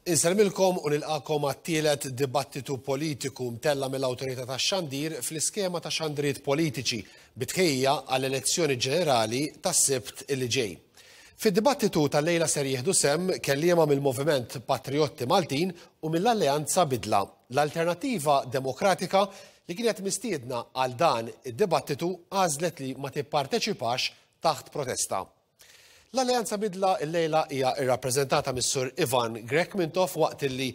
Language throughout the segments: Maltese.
Insellmilkom u nilqakom għat-tielet dibattitu politiku mtella' mill-Awtorità tax-Xandir fl-iskema ta' xandriet politiċi bi tħejjija għall-elezzjoni ġenerali tas-Sibt illi ġej. Fid-dibattitu tal-lejla ser jieħdu sehem kelliema mill-Moviment Patrijotti Maltin u mill-Alleanza Bidla, l-Alternattiva Demokratika li kienet mistiedna għal dan id-dibattitu għażlet li ma tipparteċipax taħt protesta. L-Alleanza Bidla llejla hija rrappreżentata mis-Sur Ivan Grech Mintoff waqt illi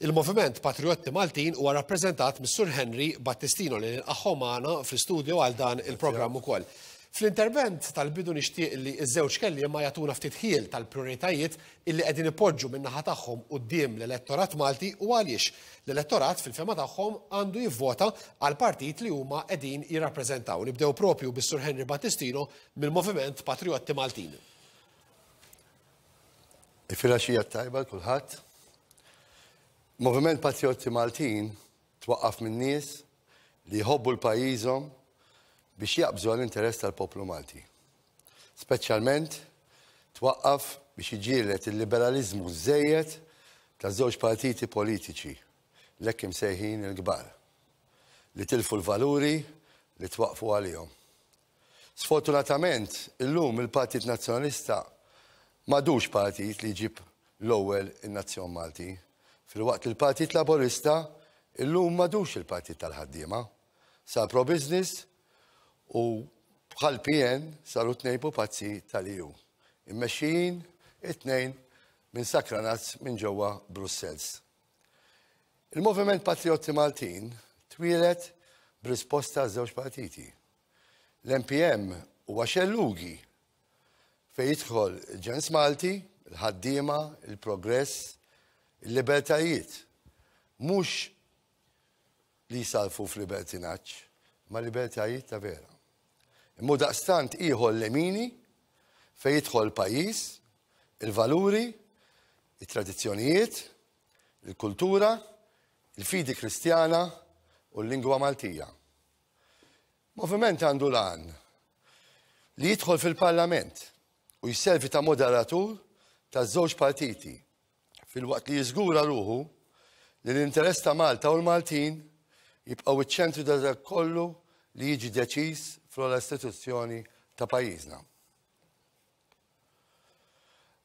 il-Moviment Patrijotti Maltin huwa rappreżentat mis-Sur Henry Battistino li nilqagħhom magħna fl-istudio għal dan il-programm ukoll. Fl-intervent tal-bidu nixtieq li ż-żewġ kelliema jagħtuna ftit ħjiel tal-prijoritajiet illi qegħdin ipoġġu min-naħa tagħhom quddiem l-elettorat Malti u għaliex l-elettorat fil-fehma tagħhom għandu jivvota għall-partit li huma qegħdin jirrappreżentaw. Nibdew propju bis-Sur Henry Battistino mill-Moviment Patrijotti Maltin. Il-filgħaxija t-tajba 'l kulħadd. Moviment Patrijotti Maltin twaqqaf minn nies li jħobbu l-pajjiżhom biex jaqbżu għall-interess tal-poplu Malti. Speċjalment twaqqaf biex iġieled il-liberaliżmu żejjed ta' żewġ partiti politiċi l-hekk imsejħin il-kbar li tilfu l-valuri li twaqqfu għalihom. Sfortunatament, illum il-Partit Nazzjonalista m'għadux partit li jġib l-ewwel in-nazzjon Malti, filwaqt li l-Partit Laburista illum m'għadux il-partit tal-ħaddiema. Sar pro-business u bħall-PN saru tnejn pupazzi tal-EU, immexxijin it-tnejn minn sakranazz minn ġewwa Brussels. Il-Moviment Patrijotti Maltin twieled b'risposta għaż-żewġ partiti. L-MPM huwa xellugi fejn jidħol il-ġens Malti, il-ħaddiema, il-progress, il-libertajiet. Mhux li jsarrfu f'libertinaġġ, ma libertajiet ta' vera. Imma hu daqstant ieħor lemini fejn jidħol il-pajjiż, il-valuri, it-tradizzjonijiet, il-kultura, il-fidi Kristjana u l-lingwa Maltija. Moviment għandu l-għan li jidħol fil-Parlament u jservi ta' moderatur taż-żewġ partiti filwaqt li jiżgura ruħu li l-interess ta' Malta u l-Maltin jibqgħu iċ-ċentru ta' dak kollu li jiġi deċiż fl-ogħla istituzzjoni ta' pajjiżna.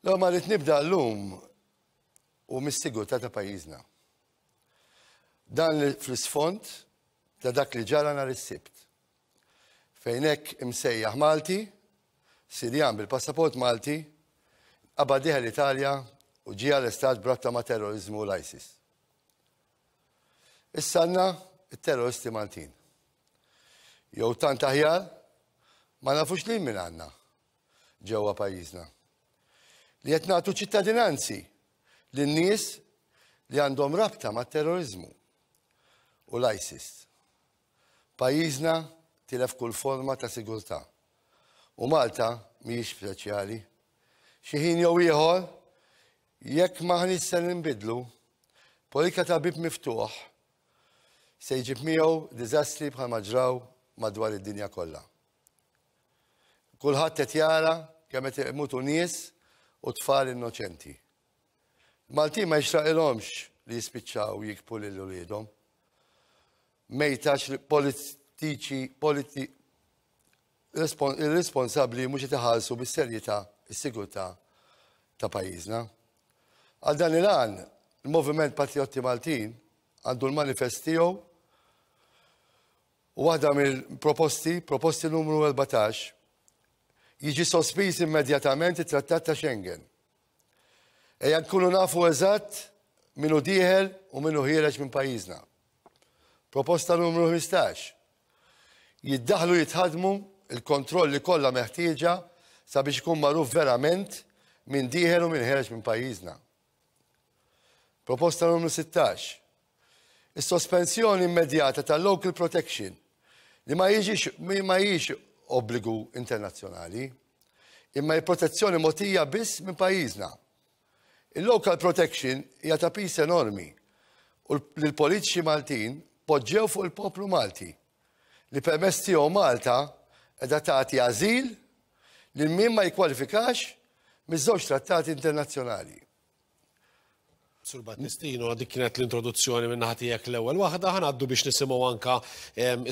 L-ewwel ma rrid nibda llum u mis-sigurtà ta' pajjiżna. Dan fl-isfond ta' dak li ġara nhar is-Sibt. Fejn hekk imsejjaħ Malti, Sirjan bil-passaport Malti, qabad dieħel l-Italja u ġie arrestat b'rabta ma' terroriżmu u l-ISIS. Issa għandna t-terroristi Maltin. Jew tant aħjar ma nafux lil min għandna ġewwa pajjiżna. Li qed nagħtu ċittadinanzi lin-nies li għandhom rabta mat-terroriżmu u l-ISIS. Pajjiżna tilef kull forma ta' sigurtà. U Malta mhijiex speċjali. Xi ħin jew ieħor, jekk m'aħniex se ninbidlu, politika ta' bieb miftuħ se jġib miegħu diżastri bħalma ġraw madwar id-dinja kollha. Kulħadd qed jara kemm qed imutu nies u tfal innoċenti. Maltin ma jixraqilhomx li jispiċċaw jikbu lil uliedhom. Mejtax politiċi politi irresponsabbli mhux qed iħarsu bis-serjetà s-sigurtà ta' pajjiżna. Għal dan il-għan, il-Moviment Patrijotti Maltin għandu l-manifest tiegħu u waħda mill-proposti, proposti numru 14, jiġi sospiż immedjatament it-Trattat ta' Schengen. Ejja nkunu nafu eżatt min hu dieħel u min hu ħiereġ minn pajjiżna. Proposta numru 15. Jiddaħlu jitħadmu il-kontrolli kollha meħtieġa sabiex ikun magħruf verament min dieħel u min ħiereġ minn pajjiżna. Proposta numru 16. Is-sospensjoni immedjata tal-local protection li ma jiġix ma hijiex obbligu internazzjonali, imma hi protezzjoni mogħtija biss minn pajjiżna. Il-local protection hija ta' piż enormi u li l-politiċi Maltin poġġew fuq il-poplu Malti li permezz tiegħu Malta qiegħda tagħti ażil lil min ma jikkwalifikax miż-żewġ trattati internazzjonali. Sur Battistino, dik kienet l-introduzzjoni minn naħa tiegħek l-ewwel waħda, ħa ngħaddu biex nisimgħu anka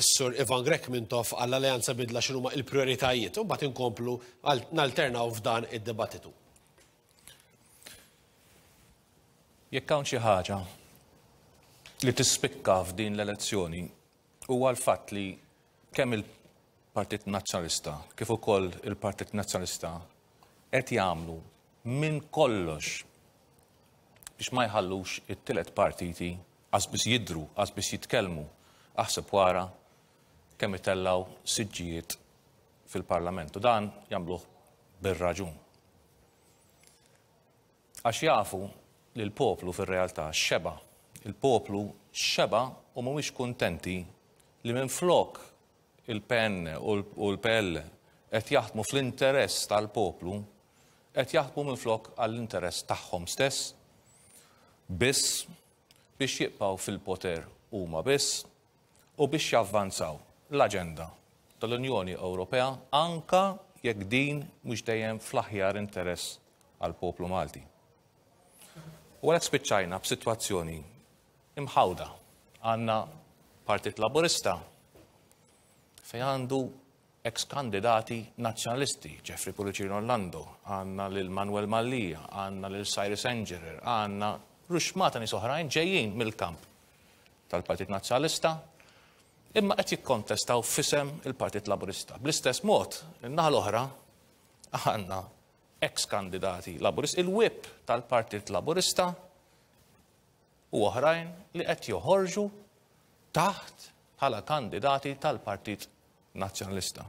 s-Sur Ivan Grech Mintoff għall-Alleanza Bidla x'inhuma l-prijoritajiet u mbagħad inkomplu nalternaw f'dan id-dibattitu. Jekk hawn xi ħaġa li tispikka f'din l-elezzjoni huwa l-fatt li kemm il-Partit Nazzjonalista kif ukoll il-Partit Nazzjonalista qed jagħmlu minn kollox biex ma jħallux it-tielet partiti qas biss jidhru, qas biss jitkellmu, aħseb wara kemm itellgħu siġġijiet fil-Parlament. U dan jagħmluh bir-raġun. Għax jafu li l-poplu fir-realtà xeba'. Il-poplu xeba' u mhumiex kuntenti li minflok il-PN u l-PL qed jaħdmu fl-interess tal-poplu, qed jaħdmu minflok għall-interess tagħhom stess biss biex jibqgħu fil-poter huma biss u biex javvanzaw l-aġenda tal-Unjoni Ewropea anke jekk din mhux dejjem fl-aħjar interess għall-poplu Malti. U għalhekk spiċċajna b'sitwazzjoni imħawda. Għandna Partit Laburista fejn għandu ex-kandidati nazzjonalisti, Jeffrey Pullicino Orlando, għandna lil Manuel Mallia, għandna lil Cyrus Engerer, għandna ruxmata nies oħrajn ġejjin mill-kamp tal-Partit Nazzjonalista, imma qed jikkontestaw f'isem il-Partit Laburista. Bl-istess mod, in-naħa l-oħra għandna ex-kandidati Laburisti, il-whip tal-Partit Laburista u oħrajn li qed joħorġu taħt bħala kandidati tal-Partit Nazzjonalista.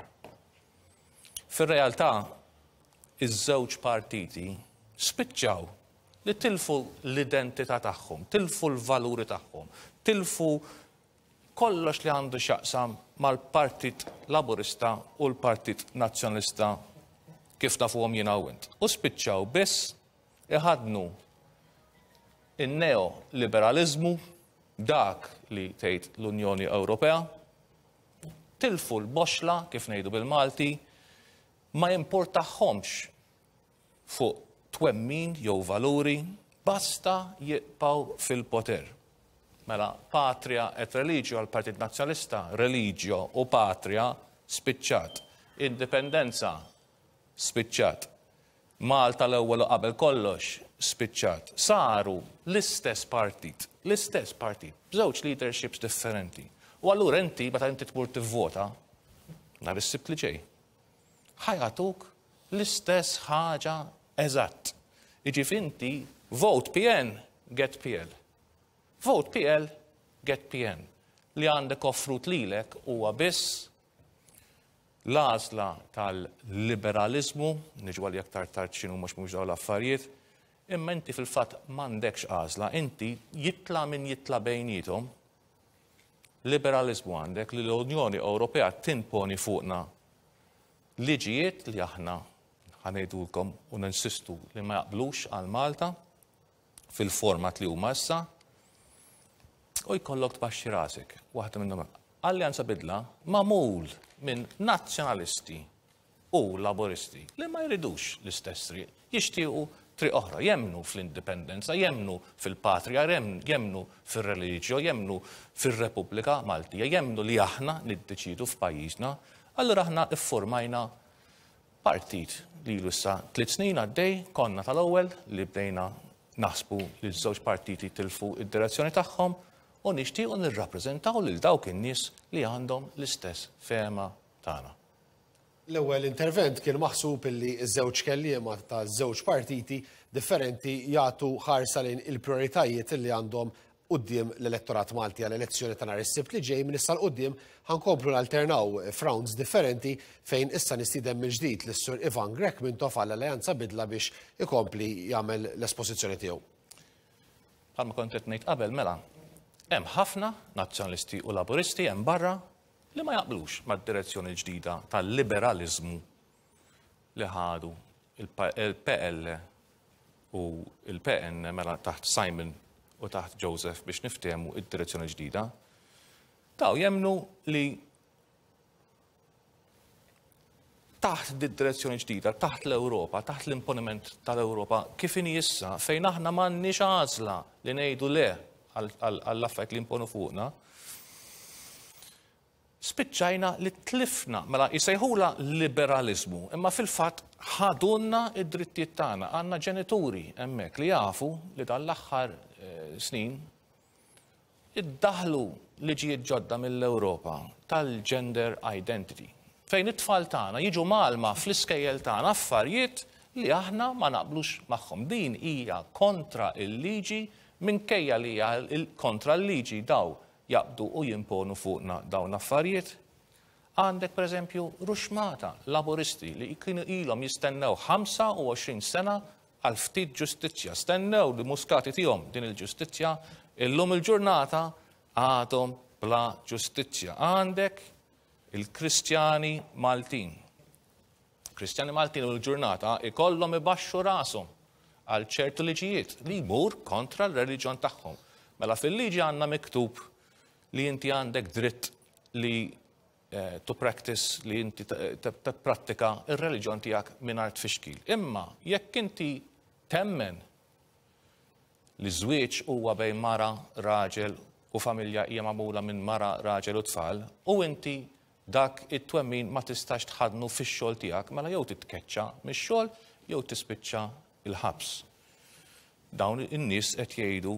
Fir-realtà, iż-żewġ partiti spiċċaw li tilfu l-identità tagħhom, tilfu l-valuri tagħhom, tilfu kollox li għandu x'jaqsam mal-Partit Laburista u l-Partit Nazzjonalista kif nafuhom jiena u int. U spiċċaw biss iħaddnu in-neo-liberaliżmu, dak li tgħid l-Unjoni Ewropea, tilfu l-boxla, kif ngħidu bil-Malti, ma jimpurtahomx fuq twemmin jew valuri, basta jibqgħu fil-poter. Mela patria et religio għall-Partit Nazzjonalista, religio u patria spiċċat. Indipendenza spiċċat. Malta l-ewwel u qabel kollox spiċċat. Saru l-istess partit, l-istess partit, b'żewġ leaderships differenti. U allura inti meta inti tmur tivvota nhar is-Sibt li ġej, ħa jagħtuk l-istess ħaġa eżatt. Jiġifieri inti vote PN, get PL. Vote PL, get PN. Li għandek offrut lilek huwa biss l-għażla tal-liberaliżmu, niġu għalih aktar tard x'inhuma x'mhumiex dawn l-affarijiet, imma inti fil-fatt m'għandekx għażla, inti jitla' min jitla' bejniethom, liberaliżmu għandek li l-Unjoni Ewropea timponi fuqna liġijiet li aħna ħa ngħidulkom u ninsistu li ma jaqblux għal Malta fil-format li huma issa u jkollok tbaxxi rasek. Waħda minnhom Alleanza Bidla magħmul minn nazzjonalisti u Laburisti li ma jridux l-istess triq, jixtiequ triq oħra, jemmnu fl-indipendenza, jemmnu fil-patrija, jemmnu fir-reliġjo, jemmnu fir-Repubblika Maltija, jemmnu li aħna niddeċiedu f'pajjiżna. Allura aħna ffurmajna partit li ilu issa tliet snin għaddej, konna tal-ewwel li bdejna naħsbu li ż-żewġ partiti tilfu d-direzzjoni tagħhom u nixtiequ nirrappreżentaw lil dawk in-nies li għandhom l-istess fehma tagħna. L-ewwel intervent kien maħsub illi ż-żewġ kelliema ta' żewġ partiti differenti jagħtu ħarsa lejn il-prijoritajiet li għandhom quddiem l-elettorat Malti għall-elezzjoni ta' nhar is-Sibt li ġej. Minn issa 'l quddiem ħa nkomplu nalternaw f'rounds differenti fejn issa nistieden mill-ġdid lis-Sur Ivan Grech Mintoff għall-Alleanza Bidla biex ikompli jagħmel l-espożizzjoni tiegħu. Bħalma kont qed ngħid qabel mela, hemm ħafna Nazzjonalisti u Laburisti hemm barra li ma jaqblux mad-direzzjoni l-ġdida tal-liberaliżmu li ħadu il-PL u il-PN mela taħt Simon u taħt Joseph biex niftehmu id-direzzjoni ġdida. Daw jemmnu li taħt di direzzjoni ġdida, taħt l-Ewropa, taħt l-imponiment tal-Ewropa, kif inhi issa, fejn aħna m'għandniex għażla li ngħidu le għall-affarijiet li imponu fuqna, spiċċajna li tlifna, mela jsejħulha liberaliżmu, imma fil-fatt ħadulna d-drittijiet tagħna. Għandna ġenituri hemmhekk li jafu li dan l-aħħar eh, snin iddaħlu liġijiet ġodda mill-Ewropa tal-gender identity, fejn it-tfal tagħna jiġu mgħallma fl-iskejjel tagħna affarijiet li aħna ma naqblux magħhom. Din hija kontra l-liġi minkejja li hija kontra l-liġi daw jaqbdu u jimponu fuqna dawn l-affarijiet. Għandek pereżempju ruxmata Laburisti li kienu ilhom jistennew 25 sena għal ftit ġustizzja. Stennew li Muscat itihom din il-ġustizzja, illum il-ġurnata għadhom bla ġustizzja. Għandek il-Kristjani Maltin. Kristjani Maltin u l-ġurnata ikollhom ibaxxu rashom għal ċertu liġijiet li jmur kontra l-reliġjon tagħhom. Mela fil-liġi għandna miktub li inti għandek dritt li eh, to practice li inti tipprattika ir-reliġjon tiegħek mingħajr tfixkil. Imma jekk inti temmen li żwieġ huwa bejn mara, raġel u familja hija magħmula minn mara, raġel u tfal, u inti dak it-twemmin ma tistax tħaddnu fix-xogħol tiegħek, mela jew titkeċċa mix-xogħol jew tispiċċa l-ħabs. Dawn in-nies qed jgħidu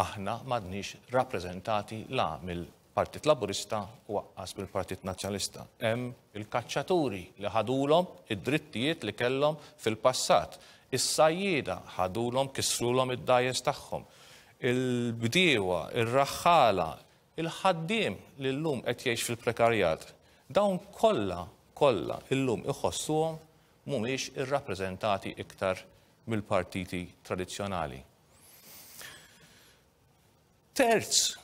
aħna m'għadniex rappreżentati la mill-Partit Laburista u aqqas mill-Partit Nazzjonalista. Hemm il-kaċċaturi li ħadulhom id-drittijiet li kellhom fil-passat. Is-sajjieda ħadulhom kissrulhom id-dgħajjes tagħhom. Il-bdiewa, ir-raħħala, Il-ħaddiem li llum qed jgħix fil-prekarjat, dawn kollha, kollha illum iħossuhom mhumiex irrappreżentati iktar mill-partiti tradizzjonali. Terz,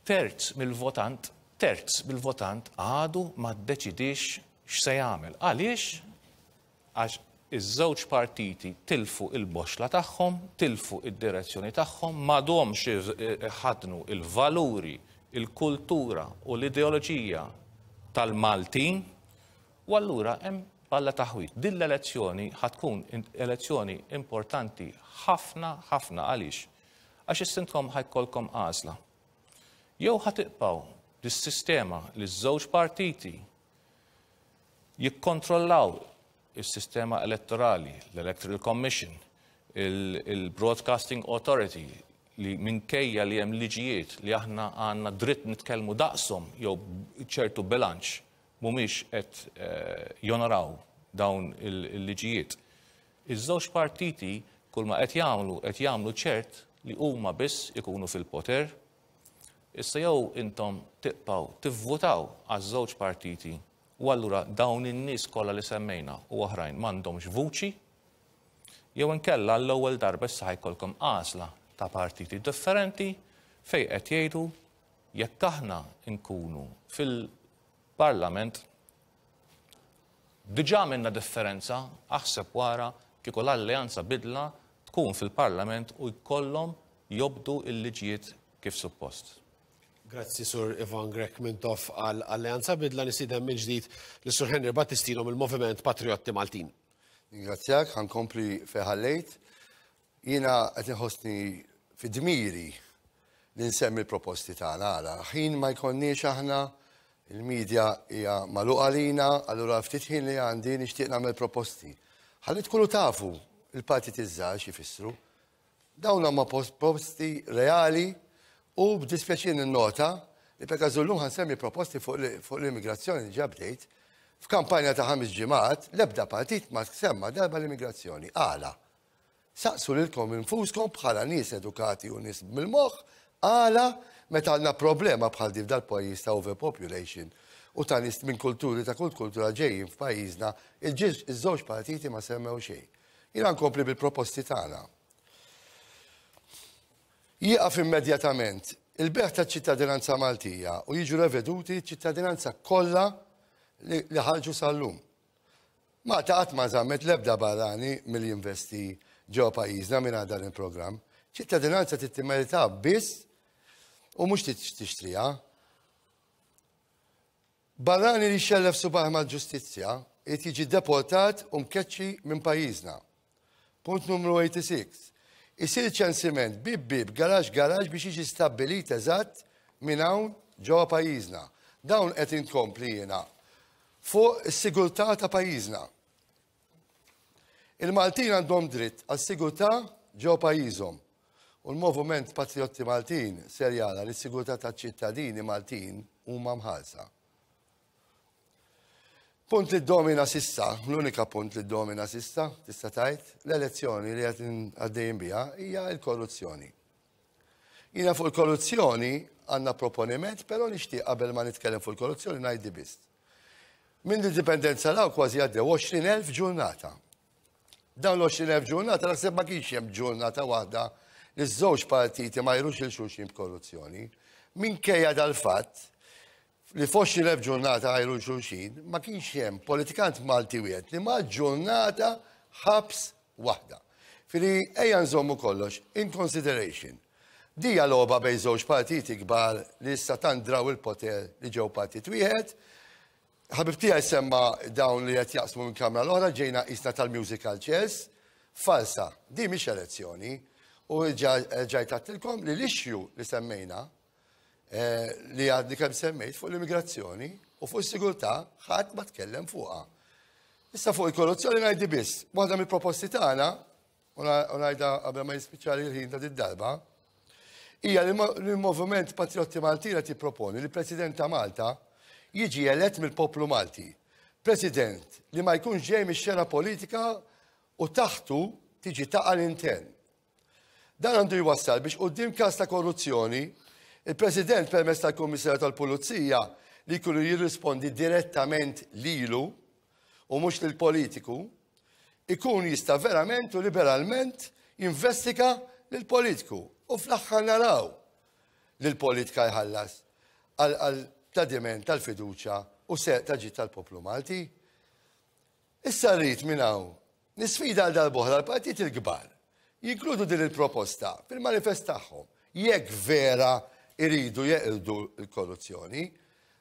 terz mill-votant, terz mill-votant għadu ma ddeċidiex x'se jagħmel. Għaliex? Għax iż-żewġ partiti tilfu l-boxxla tagħhom, tilfu d-direzzjoni tagħhom, m'għadhomx iħaddnu l-valuri, il-kultura u l-ideoloġija tal-Maltin u allura hemm balla taħwid. Din l-elezzjoni ħa tkun elezzjoni importanti ħafna ħafna għaliex? Għax issa intkom ħa jkollkom għażla. Jew ħa tibqgħu dis-sistema li ż-żewġ partiti jikkontrollaw is-sistema elettorali, l-Electoral Commission, il-Broadcasting Authority, li minkejja li hemm liġijiet li aħna għandna dritt nitkellmu daqshom jew ċertu bilanċ mhumiex qed eh, jonoraw dawn il-liġijiet. Iż-żewġ partiti kull ma qed jagħmlu qed jagħmlu ċert li huma biss ikunu fil-poter Issa jew intom tibqgħu tivvutaw għaż-żewġ partiti u allura dawn in-nies kollha li semmejna u oħrajn m'għandhomx vuċi, jew inkella għall-ewwel darba issa ħa jkollkom għażla ta' partiti differenti fejn qed jgħidu jekk aħna nkunu fil-Parlament diġà għamilna differenza, aħseb wara kieku l-Alleanza Bidla tkun fil-Parlament u jkollhom jobdu l-liġijiet kif suppost. Grazzi Sur Ivan Grech Mintoff għal Alleanza Bidla nistieden mill-ġdid lis Sur Henry Battistino mill-Moviment Patrijotti Maltin. Ningrazzjak, ħa nkompli fejn ħallejt. Jiena qed inħossni fi dmiri li nsemmi l-proposti tagħna għala. Ħin ma jkollniex aħna il-media hija magħluqa għalina, allura ftit ħin li għandi nixtieq nagħmel proposti. Ħalli tkunu tafu il-partiti żgħar x'ifissru. Dawn huma proposti reali u b'dispjaċir ninnota li per każu llum ħansemmi proposti fuq l-immigrazzjoni li ġa bdejt. F'kampanja ta' ħames ġimgħat l-ebda partit ma semma darba l-immigrazzjoni. Għala? Saqsu lilkom infuskom bħala nies edukati u nies mill-moħħ għala meta għandna problema bħal din f'dal-pajjiż ta' overpopulation u ta' nies minn kulturi ta' kull kultura ġejjin f'pajjiżna, iż-żewġ partiti ma semmew xejn. Jiena nkompli bil-proposti tagħna. Jieqaf immedjatament il-bejgħ taċ-ċittadinanza Maltija u jiġu reveduti ċ-ċittadinanza kollha li ħarġu sal-lum. Malta qatt ma żammet l-ebda barrani milli jinvesti ġewwa pajjiżna mingħajr dan il-programm. Ċittadinanza trid timmerita biss u mhux tixtriha. Barrani li jxellef subgħajh mal-ġustizzja irid jiġi deportat u mkeċċi minn pajjiżna. Punt numru 86. Isir ċensiment bieb bieb, garaxx garaxx biex jiġi stabbilit eżatt min hawn ġewwa pajjiżna. Dawn qed inkompli jiena fuq is-sigurtà ta' pajjiżna. Il-Maltin għandhom dritt għas-sigurtà ġewwa pajjiżhom u l-Moviment Patrijotti Maltin ser jara li s-sigurtà taċ-ċittadini Maltin huma mħarsa. Punt li ddomina s'issa, l-unika punt li ddomina s'issa, tista' tgħid, l-elezzjoni li qed għaddejjin biha hija l-korruzzjoni. Jiena fuq il-korruzzjoni għandna proponiment, però nixtieq qabel ma nitkellem fuq il-korruzzjoni ngħid biss. Minn l-indipendenza law kważi għaddew 20,000 ġurnata. Dawn l-20,000 ġurnata naħseb ma kienx hemm ġurnata waħda li ż-żewġ partiti ma jrux il xulxin b'korruzzjoni. Minkejja dal-fatt li f'20,000 ġurnata għajru xulxin, ma kienx hemm politikant Malti wieħed li ma ġurnata ħabs waħda. Fili ejja nżommu kollox in consideration. Dija logħba bejn żewġ partiti kbar li issa tant draw il-poter li ġew partit wieħed. Ħabib tiegħi semma dawn li qed jaqsmu minn kamra l-oħra ġejna qisna tal-musical chairs. Falsa, di mhix elezzjoni. U ġajt għattilkom li l-issue li semmejna eh, li għadni kemm semmejt fuq l-immigrazzjoni u fuq is-sigurtà ħadd ma tkellem fuqha. Issa fuq il-korruzzjoni ngħidi biss, waħda mill-proposti tagħna u ngħidha qabel ma jispiċċali l-ħin ta' did-darba, hija li l-Moviment Patriotti Maltin qed jipproponi li President ta' Malta jiġi elett mill-poplu Malti. President li ma jkunx ġej mix-xena politika u taħtu tiġi taqa' l-intern. Dan għandu jwassal biex quddiem każ ta' korruzzjoni, il-President permezz tal-Kummissarju tal-Pulizija li jkunu jirrispondi direttament lilu u mhux lill-politiku, ikun jista' verament u liberalment jinvestiga lill-politiku u fl-aħħar naraw li l-politika jħallas għal tradiment tal-fiduċja u serq ta' ġid tal-poplu Malti. Issa rrid minn hawn nisfida għal darb'oħra l-partiti l-kbar jinkludu din il-proposta fil-manifest tagħhom jekk vera jridu jeqirdu l-korruzzjoni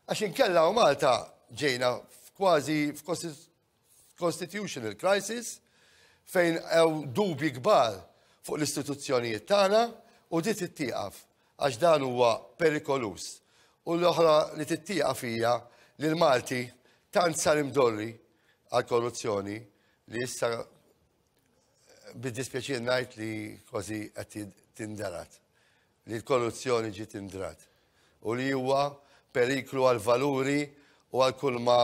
għax inkella u Malta ġejna kważi f'constitutional crisis fejn hemm dubji kbar fuq l-istituzzjonijiet tagħna u di tittieqaf għax dan huwa perikoluż. U l-oħra li tittieqaf hija li l-Malti tant sar imdorri għal korruzzjoni li issa bid-dispjaċir ngħid li kważi qed tindarat. Li l-korruzzjoni ġiet indrat u li huwa periklu għal valuri u għal kull ma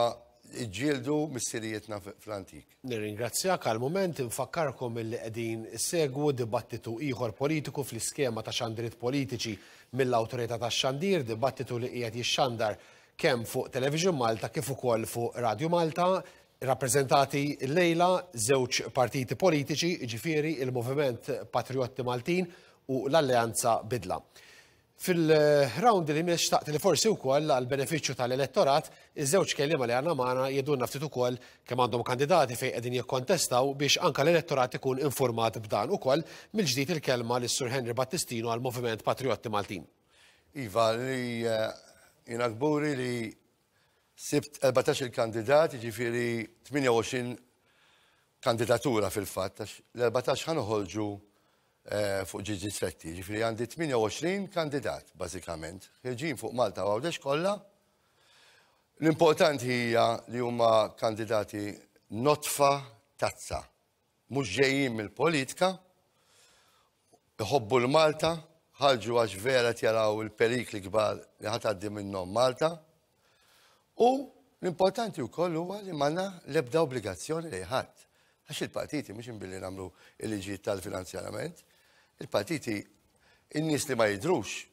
ġġieldu missirijietna fl-antik. Nirringrazzjak għal mument infakkarkom illi qegħdin issegwu dibattitu ieħor politiku fl-iskema ta' xandiriet politiċi mill-Awtorità tax-Xandir, dibattitu li qiegħed jixxandar kemm fuq Television Malta kif ukoll fuq Radju Malta, rappreżentati llejla żewġ partiti politiċi, jiġifieri il-Moviment Patrijotti Maltin u l-Alleanza Bidla. Fil-round li jmiss xtaqt li forsi wkoll għal benefiċċju tal-elettorat, iż-żewġ kelliema li għandna magħna jgħidulna ftit ukoll kemm għandhom kandidati fejn qegħdin jikkontestaw biex anke l-elettorat ikun informat b'dan ukoll. Mill-ġdid il-kelma lis-Sur Henry Battistino għall-Moviment Patrijotti Maltin. Iva, li jiena kburi li sibt 14 il-kandidat, jiġifieri 28 kandidatura fil-fatt, għax l-14 ħa noħorġu fuq ġiex distretti, jiġifieri għandi 28 kandidat bażikament, ħirġin fuq Malta u Għawdex kollha. L-importanti hija li huma kandidati notfa tazza, mhux ġejjin mill-politika, iħobbu l-Malta, ħarġu għax vera qed jaraw il-perikli kbar li ħa tgħaddi minnhom Malta. U l-importanti wkoll huwa li m'għandna l-ebda obbligazzjoni lejn ħadd. Għax il-partiti mhux imbilli nagħmlu il-liġijiet tal-finanzjarament, il-partiti in-nies li ma jidhrux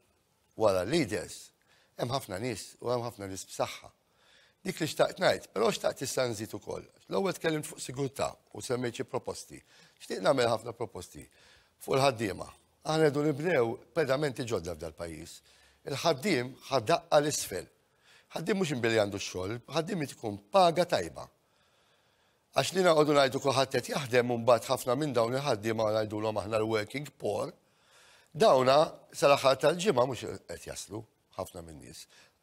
wara l-leaders, hemm ħafna nies u hemm ħafna nies b'saħħa. Dik li xtaqt ngħid, però xtaqt issa nżid ukoll. L-ewwel tkellimt fuq sigurtà u semmejt xi proposti. Xtieq nagħmel ħafna proposti fuq il-ħaddiema. Aħna rridu nibnew pedamenti ġodda f'dal-pajjiż. Il-ħaddiem ħa daqqa 'l isfel. Ħaddiem mhux imbilli għandu x-xogħol, ħaddiem irid ikun paga tajba. Għax li noqogħdu ngħidu kulħadd qed jaħdem u mbagħad ħafna minn dawn il-ħaddiema ngħidulhom aħna l-working poor, dawna sal-aħħar tal-ġimgħa mhux qed jaslu ħafna minn nies.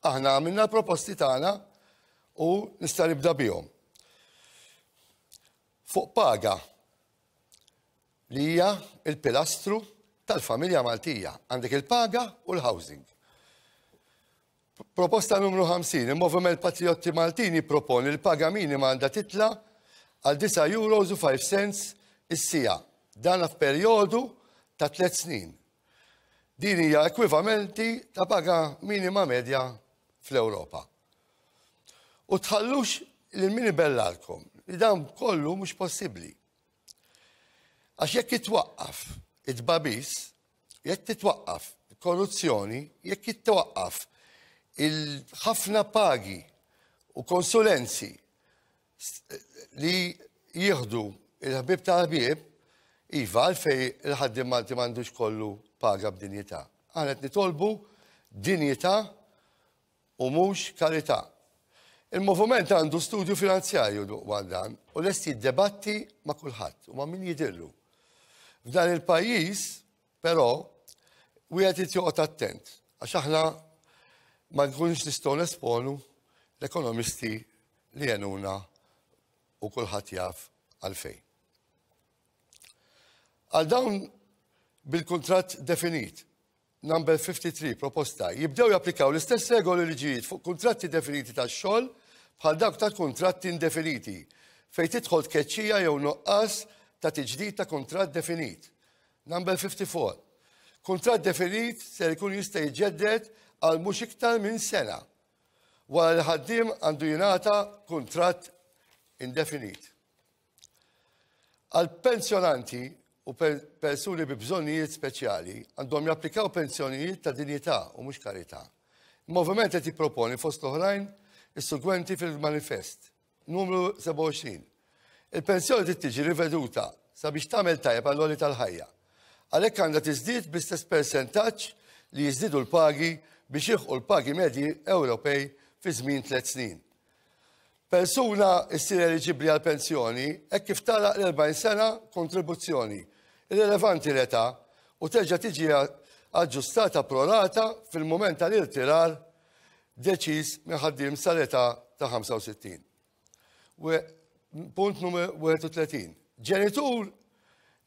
Aħna għamilna l-proposti tagħna u nista' nibda bihom. Fuq paga. li hija l-pilastru tal-familja Maltija. Għandek il-paga u l-housing. Proposta numru 50, il-Moviment Patriotti Maltin jipproponi l-paga minima għandha titla għal 9 euros u 5 cents is-siegħa. Dan f'perjodu ta' 3 snin. Din hija ekwivalenti ta' paga minima medja fl-Ewropa. U tħallux lil min ibellalkom li dan kollu mhux possibbli. Għax jekk jitwaqqaf it-tbagħbis, jekk titwaqqaf korruzzjoni, jekk jitwaqqaf il-ħafna pagi u konsulenzi li jieħdu il-ħbib ta' ħbieb, iva għalfej il-ħaddiem Malti m'għandux kollu paga b'dinjità. Aħna qed nitolbu dinjità u mhux karità. Il-moviment għandu studju finanzjarju dwar dan u lest jiddebatti ma' kulħadd u ma' min jidhirlu. F'dan il-pajjiż, però, wieħed irid joqgħod attent għax aħna ma nkunux nistgħu nesponu l-ekonomisti li għenuna u kulħadd jaf għalfejn. Għal dawn bil-kuntratt definit, Number 53, proposta, jibdew japplikaw l-istess regoli u liġijiet fuq kuntratti definiti tax-xogħol bħal dawk ta' kuntratti indefiniti, fejn tidħol tkeċċija jew nuqqas ta' tiġdid ta' kuntratt definit. Number 54, kuntratt definit ser ikun jista' jiġġedded għal mhux iktar minn sena wara li ħaddiem għandu jingħata kuntratt indefinit. Għal pensjonanti u persuni bi bżonnijiet speċjali għandhom japplikaw pensjonijiet ta' dinjità u mhux karità. Il-Moviment qed jipproponi fost l-oħrajn is-segwenti fil-manifest. Numru 27. Il-pensjoni trid tiġi riveduta sabiex tagħmel tajjeb għall-għoli tal-ħajja. Għalhekk għandha tiżdied bl-istess persentaġġ li jiżdiedu l-pagi biex jilħqu l-pagi medji Ewropej fi żmien tliet snin. Persuna ssir eliġibbli għal pensjoni hekk kif tagħlaq l-40 sena kontribuzzjoni, irrilevanti l-età, u terġa' tiġi aġġustata pro rata fil-mument tal-irtirar deċiż minn ħaddiem sal-età ta' 65. Punt numru 31. Ġenitur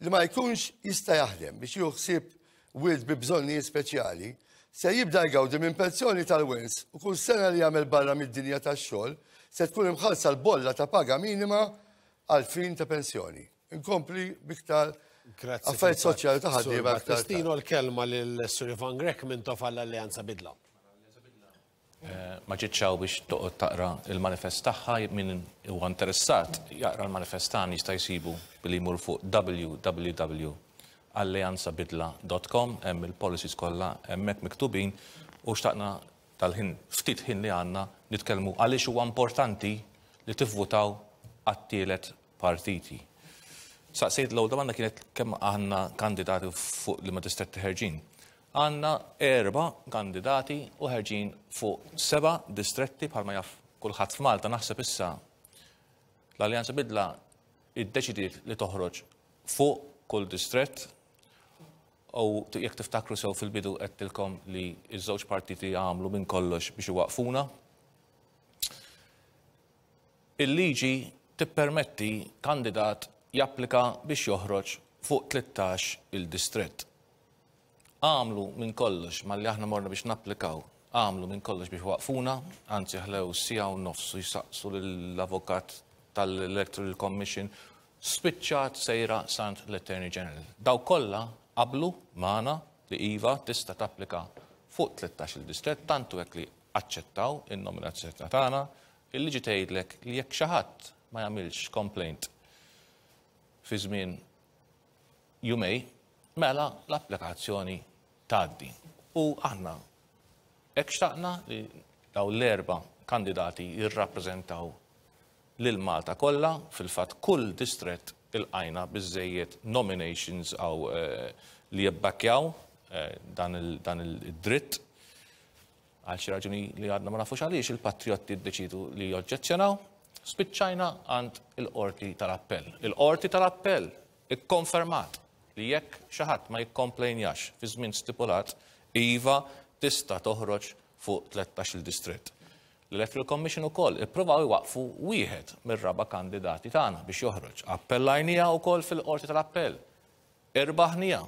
li ma jkunx jista' jaħdem biex jieħu ħsieb wild bi bżonnijiet speċjali se jibda jgawdi minn pensjoni tal-wens u kull sena li jagħmel barra mid-dinja tax-xogħol se tkun imħallsa l-bolla ta' paga minima għal fin ta' pensjoni. Inkompli biktar affarijiet soċjali ta' ħaddiema. Battistino l-kelma lil Sur Ivan Grech minn Tof għall-Alleanza Bidla. Ma ġietx hawn biex toqgħod taqra l-manifest tagħha, min huwa interessat jaqra l-manifest tagħna jista' jsibu billi jmur fuq www.alleanzabidla.com hemm il-policies kollha hemmhekk miktubin u xtaqna tal-ħin ftit ħin li għandna nitkellmu għaliex huwa importanti li tivvutaw għat-tielet partiti. Saqsejt l-ewwel domanda kienet kemm għandna kandidati fuq liema distretti ħerġin. Għandna erba' kandidati u ħerġin fuq seba' distretti bħalma jaf kulħadd f'Malta naħseb issa l-Alleanza Bidla iddeċidiet li toħroġ fuq kull distrett u jekk tiftakru sew fil-bidu għedtilkom li ż-żewġ partiti għamlu minn kollox biex iwaqfuna. Il-liġi tippermetti kandidat japplika biex joħroġ fuq 13 il-distrett. Għamlu minn kollox malli aħna morna biex napplikaw, għamlu minn kollox biex waqfuna, anzi ħlew siegħa u nofs u jsaqsu lill-avukat tal-Electoral Commission, spiċċat sejra s'għand l-Attorney General. Dawk kollha qablu magħna li iva tista' tapplika fuq 13-il distrett, tant hu hekk li aċċettaw in-nominazzjoni tagħna. Il-liġi tgħidlek li jekk xi ħadd ma jagħmilx complaint fi żmien jumej, mela l-applikazzjoni tgħaddi. U aħna hekk xtaqna li dawn l-erba' kandidati jirrappreżentaw lil Malta kollha, fil-fatt kull distrett ilqajna biżżejjed nominations għaw li jibbakkjaw dan id-dritt. Għal xi raġuni li għadna ma nafux għaliex il-Patrijotti ddeċiedu li joġġezzjonaw, spiċċajna għand il-Qorti tal-Appell. Il-Qorti tal-Appell ikkonfermat li jekk xi ħadd ma jikkomplejnjax fi żmien stipulat, iva tista' toħroġ fuq 13-il distrett. L-Electoral Commission ukoll ippruvaw iwaqqfu wieħed mir-raba' kandidati tagħna biex joħroġ. Appellajniha wkoll fil-Qorti tal-Appell. Irbaħniha.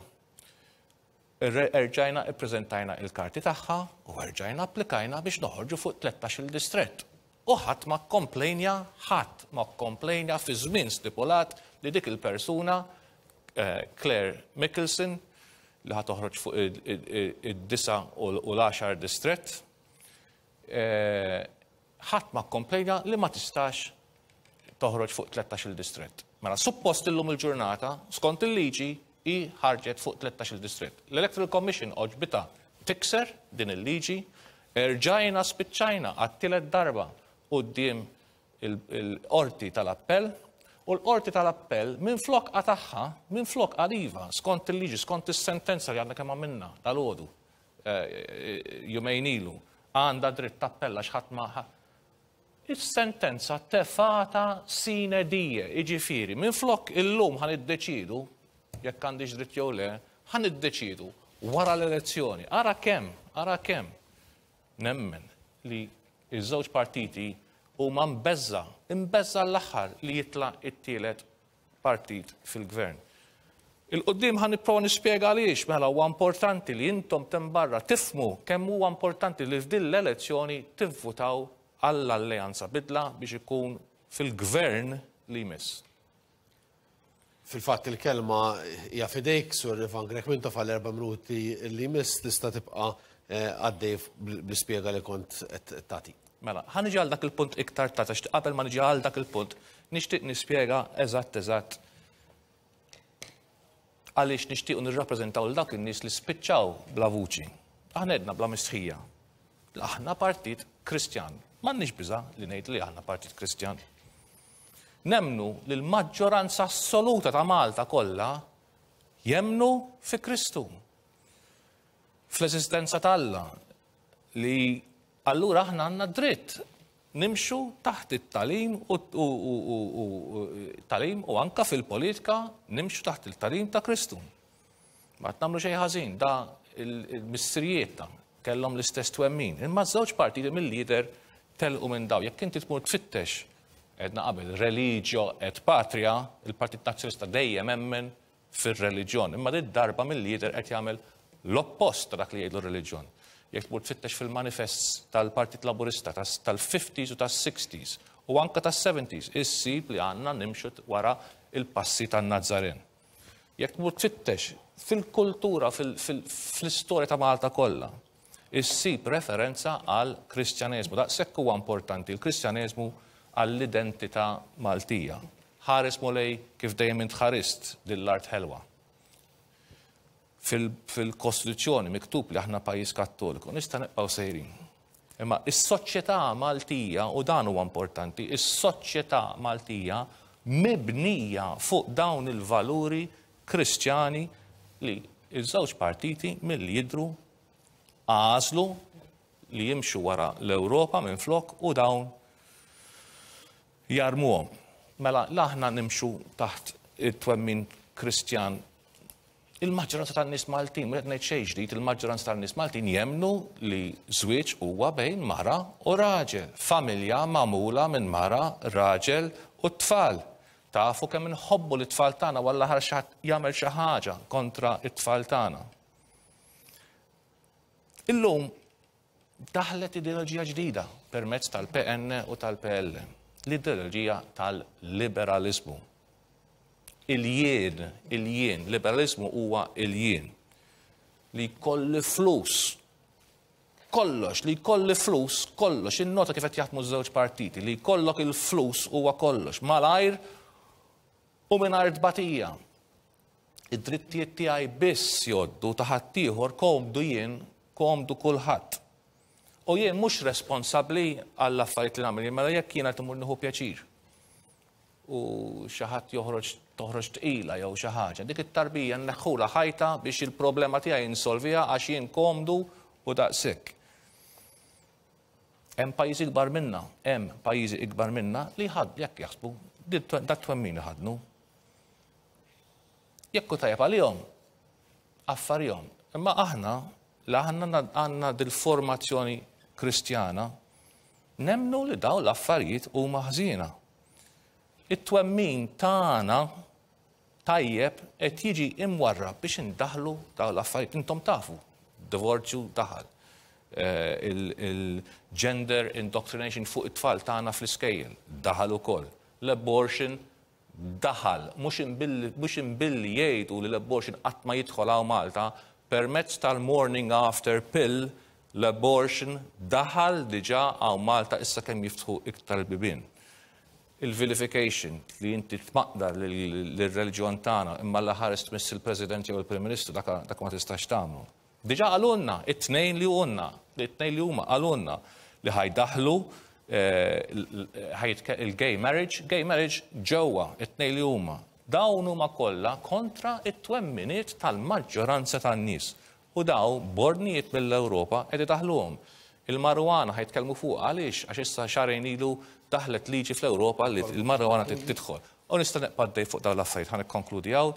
Erġajna ippreżentajna il-karti tagħha u erġajna applikajna biex noħorġu fuq 13-il distrett. U ħadd ma kkomplejnja, ħadd ma kkomplejnja fi żmien stipulat li dik il-persuna, Claire Mickelson, li ħa toħroġ fuq id-disa' u l-għaxar distrett, ħadd ma kkomplejna li ma tistax toħroġ fuq 13-il distrett. Mela suppost illum il-ġurnata, skont il-liġi, hi ħarġet fuq 13-il distrett. L-Electoral Commission għoġbitha tikser din il-liġi, erġajna spiċċajna għat-tielet darba quddiem il-Qorti tal-Appell u l-Qorti tal-Appell minflok qatagħha, minflok qal iva, skont il-liġi, skont is-sentenza li għadna kemm għamilna dalgħodu, jumejn ilu, għandha dritt tappella x'ħadd ma Is-sentenza tefgħatha sine die, jiġifieri minflok illum ħa niddeċiedu jekk għandix dritt jew le, ħa niddeċiedu wara l-elezzjoni. Ara kemm, ara kemm nemmen li ż-żewġ partiti huma mbeżża', imbeżża' l-aħħar li jitla' t-tielet partit fil-gvern. Il-quddiem ħa nipprova nispjega għaliex mela huwa importanti li intom t'hemm barra tifhmu kemm huwa importanti li f'din l-elezzjoni tivvutaw għall-Alleanza Bidla biex ikun fil-gvern li jmiss. Fil-fatt il-kelma hija f'idejk, Sur Ivan Grech Mintoff għall-erba' minuti li jmiss tista' tibqa' għaddej bl-ispjega li kont qed tagħti. Mela, ħa niġi għal dak il-punt iktar tard għax qabel ma niġi għal dak il-punt nixtieq nispjega eżatt eżatt għaliex nixtiequ nirrappreżentaw lil dawk in-nies li spiċċaw bla vuċi. Aħna għedna bla mistħija. Aħna partit Kristjan. M'għandniex biża' li ngħidu li aħna partit Kristjan. Nemmnu li l-maġġoranza assoluta ta' Malta kollha jemmnu fi Kristu. Fl-eżistenza ta' Alla li allura aħna għandna dritt nimxu taħt it-talim u talim u anka fil-politika nimxu taħt il-talim ta' Kristu. Ma qed nagħmlu xejn ħażin, da il-missirijiet ta' kellhom l-istess twemmin. Imma żewġ partiti mill-lider telqu minn daw. Jekk inti tmur tfittex għedna qabel religio et patria, il-Partit Nazzjonalista dejjem emmen fir-reliġjon. Imma din darba mill-lider qed jagħmel l-oppost ta' dak li jgħidlu r-reliġjon. Jekk tmur tfittex fil-manifests tal-Partit Laburista tal-50s u tas-60s u anke tas-70s, issib li għandna nimxu wara il-passi tan-Nazzaren. Jekk tmur tfittex fil-kultura, fl-istorja ta' Malta kollha, issib referenza għal Kristjaneżmu. Daqshekk huwa importanti l-Kristjaneżmu għall-identità Maltija. Ħares Mulej kif dejjem int ħarist din l-art ħelwa. Fil-Kostituzzjoni miktub li aħna pajjiż Kattoliku, nista' nibqgħu sejrin. Imma is-soċjetà Maltija, u dan huwa importanti, is-soċjetà Maltija mibnija fuq dawn il-valuri Kristjani li ż-żewġ partiti milli jidhru għażlu li jimxu wara l-Ewropa minflok u dawn jarmuhom. Mela la aħna nimxu taħt it-twemmin Kristjan il-maġġoranza tan-nies Maltin, mhux qed ngħid xejn ġdid, il-maġġoranza tan-nies Maltin jemmnu li żwieġ huwa bejn mara u raġel, familja magħmula minn mara, raġel u t-tfal. Tafu kemm inħobbu lit-tfal tagħna u Alla ħares xi ħadd jagħmel xi ħaġa kontra t-tfal tagħna. Illum daħlet ideoloġija ġdida permezz tal-PN u tal-PL, l-ideoloġija tal-liberaliżmu. Il-jien, il-jien, liberaliżmu huwa il-jien. Li jkolli flus, kollox, li jkolli flus, kollox, innota kif qed jaħdmu ż-żewġ partiti, li jkollok il-flus huwa kollox, malajr u mingħajr tbatija. Id-drittijiet tiegħi biss jgħoddu ta' ħaddieħor komdu jien, komdu kulħadd. U jien mhux responsabbli għall-affarijiet li nagħmel, mela jekk jiena qed immur nieħu pjaċir u xi ħadd joħroġ toħroġ tqila jew xi ħaġa, dik it-tarbija nneħħulha ħajta biex il-problema tiegħi insolviha għax jien komdu u daqshekk. Hemm pajjiżi ikbar minna, hemm pajjiżi ikbar minna li ħadd jekk jaħsbu dat twemmin iħaddnu. Jekk hu tajjeb għalihom, affarihom. Imma aħna, li aħna għandna dil-formazzjoni Kristjana, nemmnu li dawn l-affarijiet huma ħżiena. It-twemmin tagħna. tajjeb qed jiġi imwarrab biex indaħlu dawn l-affarijiet. Intom tafu, divorzju daħal. Il-gender indoctrination fuq it-tfal tagħna fl-iskejjel daħal ukoll. L-abortion daħal, mhux imbilli jgħidu li l-abortion qatt ma jidħol hawn Malta, permezz tal-morning after pill l-abortion daħal diġà hawn Malta issa kemm jiftħu iktar il-bibien. Il-vilification li inti tmaqdar lir-reliġjon tagħna imma Alla ħares tmiss il-President jew il-Prim Ministru dak ma tistax tagħmlu. Diġà qalulna, it-tnejn li huna, it-tnejn li huma qalulna li ħa jdaħħlu il-gay marriage, gay marriage ġewwa it-tnejn li huma. Dawn huma kollha kontra t-twemminiet tal-maġġoranza tan-nies. U dawn b'ordnijiet mill-Ewropa qed idaħħluhom. Il-marijuana ħa jitkellmu fuqha għaliex? Għax issa xahrejn ilu daħlet liġi fl-Ewropa li l-marijuana trid tidħol. U nista' nibqa' għaddej fuq dawn l-affarijiet, ħa nikkonkludi hawn.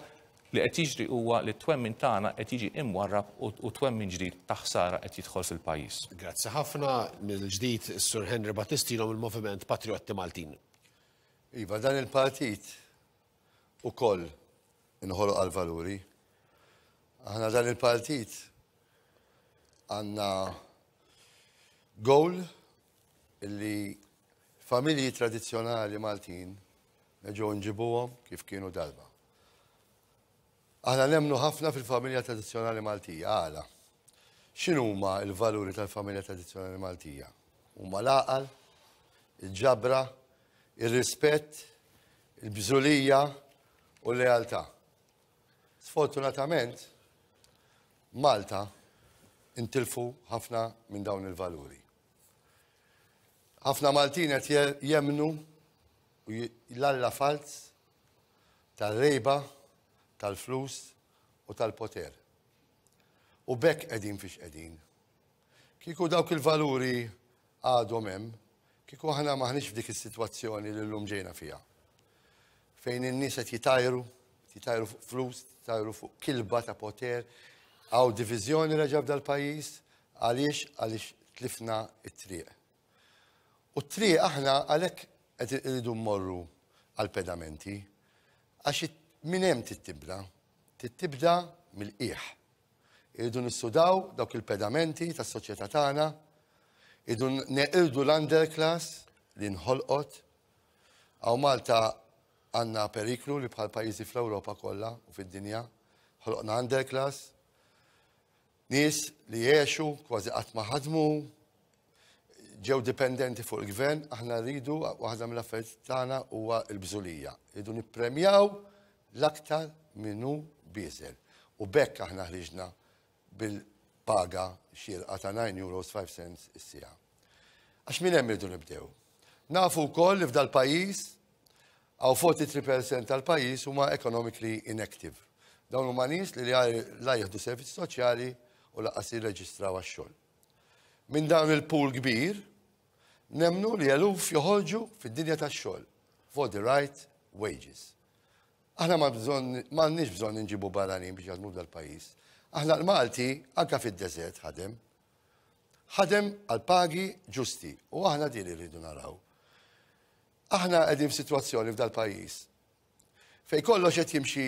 Li qed jiġri huwa li t-twemmin tagħna qed jiġi imwarrab u twemmin ġdid ta' ħsara qed jidħol fil-pajjiż. Grazzi ħafna. Mill-ġdid is-Sur Henry Battistino mill-Moviment Patrijotti Maltin. Iva, dan il-partit ukoll inħoloq għall-valuri. Aħna dan il-partit għandna goal illi familji tradizzjonali Maltin nerġgħu nġibuhom kif kienu darba. Aħna nemmnu ħafna fil-familja tradizzjonali Maltija. Għala? X'inhuma l-valuri tal-familja tradizzjonali Maltija? Huma l-għaqal, il-ġabra, ir-rispett, il-bżulija u l-lealtà. Sfortunatament, Malta intilfu ħafna minn dawn il-valuri. Ħafna Maltin qed jemmnu l-alla falz tar-rejba, tal-flus u tal-poter. U b'hekk qegħdin fiex qegħdin. Kieku dawk il-valuri għadhom hemm, kieku aħna m'aħniex f'dik is-sitwazzjoni li llum ġejna fiha. Fejn in-nies qed jitajru, jitajru fuq flus, jitajru fuq kilba ta' poter, hawn diviżjoni reġa' f'dal-pajjiż, għaliex għaliex tlifna t-triq. U t-triq aħna għalhekk qed irridu mmorru għall-pedamenti, għax minn hemm trid tibda, trid tibda mill-qiegħ. Irridu nissudaw dawk il-pedamenti tas-soċjetà tagħna, irridu neqirdu l-underclass li nħolqot. Hawn Malta għandna periklu li bħal pajjiżi fl-Ewropa kollha u fid-dinja ħloqna underclass. Nies li għexu kważi qatt ma ħadmu, ġew dipendenti fuq il-gvern, aħna rridu waħda mill-affarijiet tagħna huwa l-bżulija. Rridu nippremjaw l-aktar min hu bieżel. U b'hekk aħna ħriġna bil-paga xierqa ta' 9 euros 5 cents is-siegħa. Għax minn hemm irridu nibdew. Nafu wkoll li f'dal-pajjiż hawn 43% tal-pajjiż huma economically inactive. Dawn huma nies li la jieħdu servizzi soċjali u lanqas jirreġistraw għax-xogħol. Minn dawn il-pool kbir, nemmnu li eluf joħorġu fid-dinja tax-xogħol for the right wages. Aħna ma bżonn m'għandniex bżonn inġibu barranin biex jaħdmu f'dal-pajjiż. Aħna l-Malti anke fid-deżert ħadem. Ħadem għal pagi ġusti u aħna din irridu naraw. Aħna qegħdin f'sitwazzjoni f'dal-pajjiż fejn kollox qed jimxi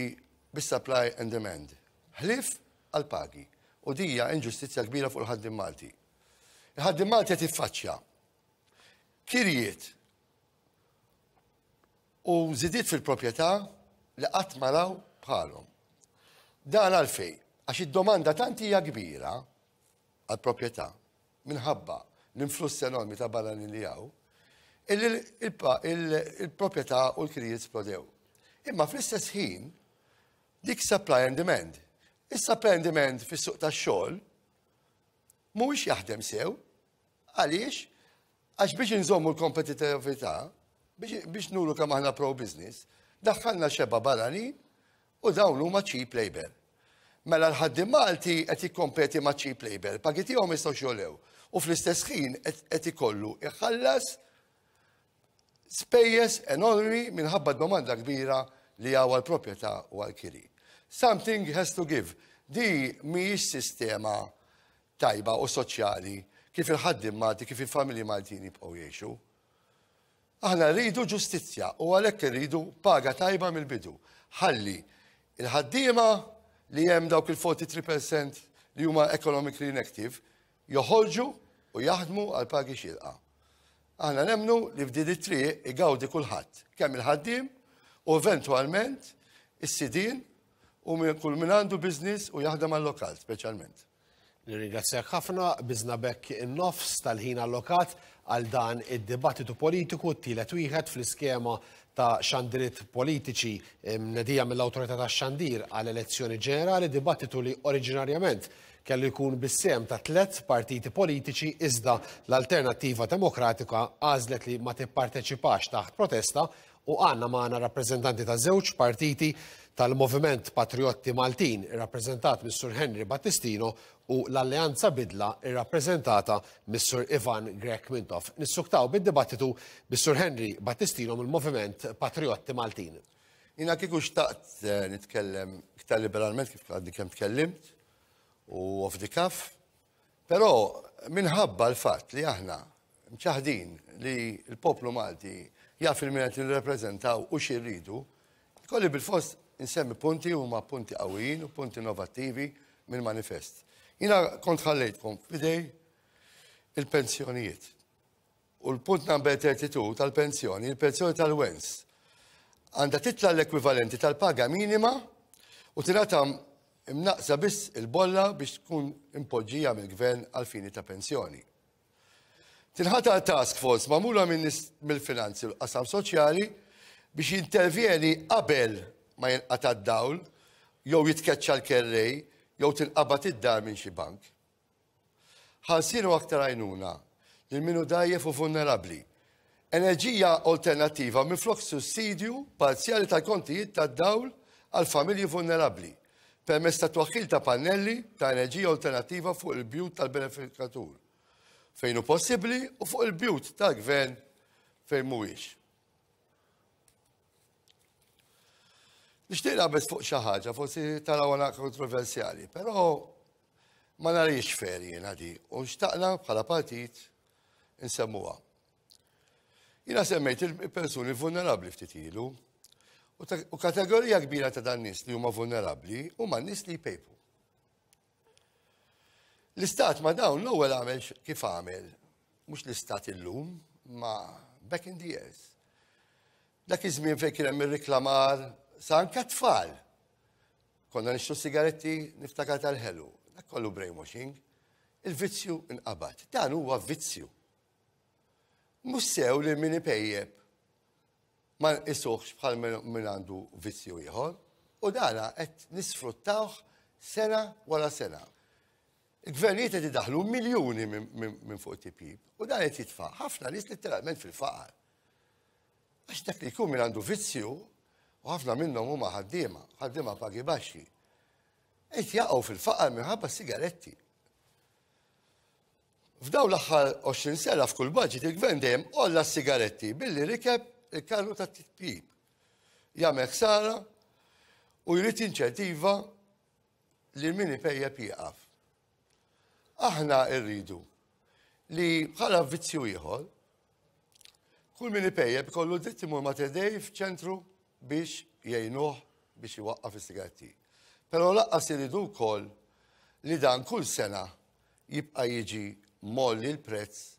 bis-supply and demand, ħlief għall-pagi. U din hija inġustizzja kbira fuq il-ħaddiem Malti. Il-ħaddiem Malti qed jiffaċċja kirjiet u żidiet fil-proprjetà li qatt ma raw bħalhom. Dan għalfejn? Għax id-domanda tant hija kbira għall-proprjetà minħabba l-influss enormi ta' barranin li hawn, illi il-proprjetà u l-kirjiet splodew. Imma fl-istess ħin, dik supply and demand. Is-supply and demand fis-suq tax-xogħol mhuwiex jaħdem sew. Għaliex? Għax biex inżommu l-kompetitività, biex nuru kemm aħna pro-business, daħħalna xeba barranin U dawn huma cheap labour. Mela l-ħaddiem Malti qed jikkompeti ma' cheap labour, pagi tiegħu ma jistgħux jogħlew u fl-istess ħin qed ikollu jħallas spejjeż enormi minħabba d-domanda kbira li hawn għall-proprjetà u għall-kiri. Something has to give. Di mhijiex sistema tajba u soċjali kif il-ħaddiem Malti, kif il-familji Maltin jibqgħu jgħixu. Aħna rridu ġustizzja u għalhekk irridu paga tajba mill-bidu. Ħalli Il-ħaddiema li hemm dawk il-43% li huma economically inactive joħorġu u jaħdmu għal pagi xierqa. Aħna nemmnu li f'din it-triq igawdi kulħadd, kemm il-ħaddiem u eventwalment is-sidien u kull min għandu business u jaħdem għal-lokal speċjalment. Nirringrazzjak ħafna, biżna b'hekk in-nofs tal-ħin allokat għal dan id-dibattitu politiku, t-tielet wieħed fl-iskema ta' xandiriet politiċi mnedija mill-Awtorità tax-Xandir għal elezzjoni ġenerali, dibattitu li oriġinarjament kellu jkun bis-sehem ta' tlett partiti politiċi iżda l-Alternattiva Demokratika għażlet li ma tipparteċipax taħt protesta u għandna magħna rappreżentanti ta' żewġ partiti tal-Moviment Patrijotti Maltin irrappreżentat mis-Sur Henry Battistino u l-Alleanza Bidla irrappreżentata mis-Sur Ivan Grech Mintoff. Nissuktaw bid-dibattitu bis-Sur Henry Battistino mill-Moviment Patrijotti Maltin. Jiena kieku xtaqt nitkellem iktar liberalment kif għadni kemm tkellimt u off the cuff, però minħabba l-fatt li aħna mċaħdin li l-poplu Malti jaf il min qed nirrepreżentaw u xi rridu, ikolli bil-fost insemmi punti huma punti qawwijin u punti innovattivi mill-manifest. Jiena kont ħallejtkom f'idej il-pensjonijiet. U l-punt number 32 tal-pensjoni, il-pensjoni tal-wens, għandha titla' l-ekwivalenti tal-paga minima u tingħata imnaqqsa biss il-bolla biex tkun impoġġija mill-gvern għal fini ta' pensjoni. Tinħatar task force magħmula minn nies mill-finanzi u l-qasam soċjali biex jintervjeni qabel ma jinqata' d-dawl jew jitkeċċa l-kerrej jew tinqabad id-dar minn xi bank. Ħarsien u aktar għajnuna lil min hu dgħajjef u vulnerabbli. Enerġija alternattiva minflok sussidju parzjali tal-kontijiet tad-dawl għal familji vulnerabbli permezz ta' twaħħil ta' pannelli ta' enerġija alternattiva fuq il-bjut tal-benefikatur fejn hu possibbli u fuq il-bjut tal-gvern fejn mhuwiex. Nixtieq naqbeż fuq xi ħaġa, forsi tarawha kontroversjali, però Ma nariex fair jiena di u xtaqna bħala partit insemmuha. Jiena semmejt il-persuni vulnerabbli ftit ilu u kategorija kbira ta' dan nies li huma vulnerabbli huma nies li jpejpu. L-istat ma dawn l-ewwel għamel kif għamel, mhux l-istat illum, ma back in the years. Dak iż-żmien fejn kien hemm ir-riklamar sa anke tfal Konna nixtru sigaretti niftakar tal-ħelu. Dak kollu brainwashing. Il-vizzju nqabad. Dan huwa vizzju. Mhux sew li min ipejjeb ma nqisuhx bħal min għandu vizzju ieħor. U dana qed nisfruttawh sena wara sena. Il-gvernijiet qed idaħlu miljuni minn fuq it-tipjip u dan qed jitfa' ħafna nies letteralment fil-faqar. Għax dak li jkun min għandu vizzju, u ħafna minnhom huma ħaddiema, ħaddiema pagi baxxi, qed jaqgħu fil-faqar minħabba sigaretti. F'dawn l-aħħar 20 sena f'kull budget il-gvern dejjem għolla s-sigaretti billi rikeb il-karru tat-tipjip. Jagħmel ħsara u jrid inċentiva li min ipejjep jieqaf. Aħna rridu li bħala vizzju ieħor, kull min ipejjep ikollu dritt imur Mater Dei f'ċentru biex jgħinuh biex iwaqqaf is-sigaretti. Però laqqas iridu wkoll li dan kull sena jibqa' jiġi molli l-prezz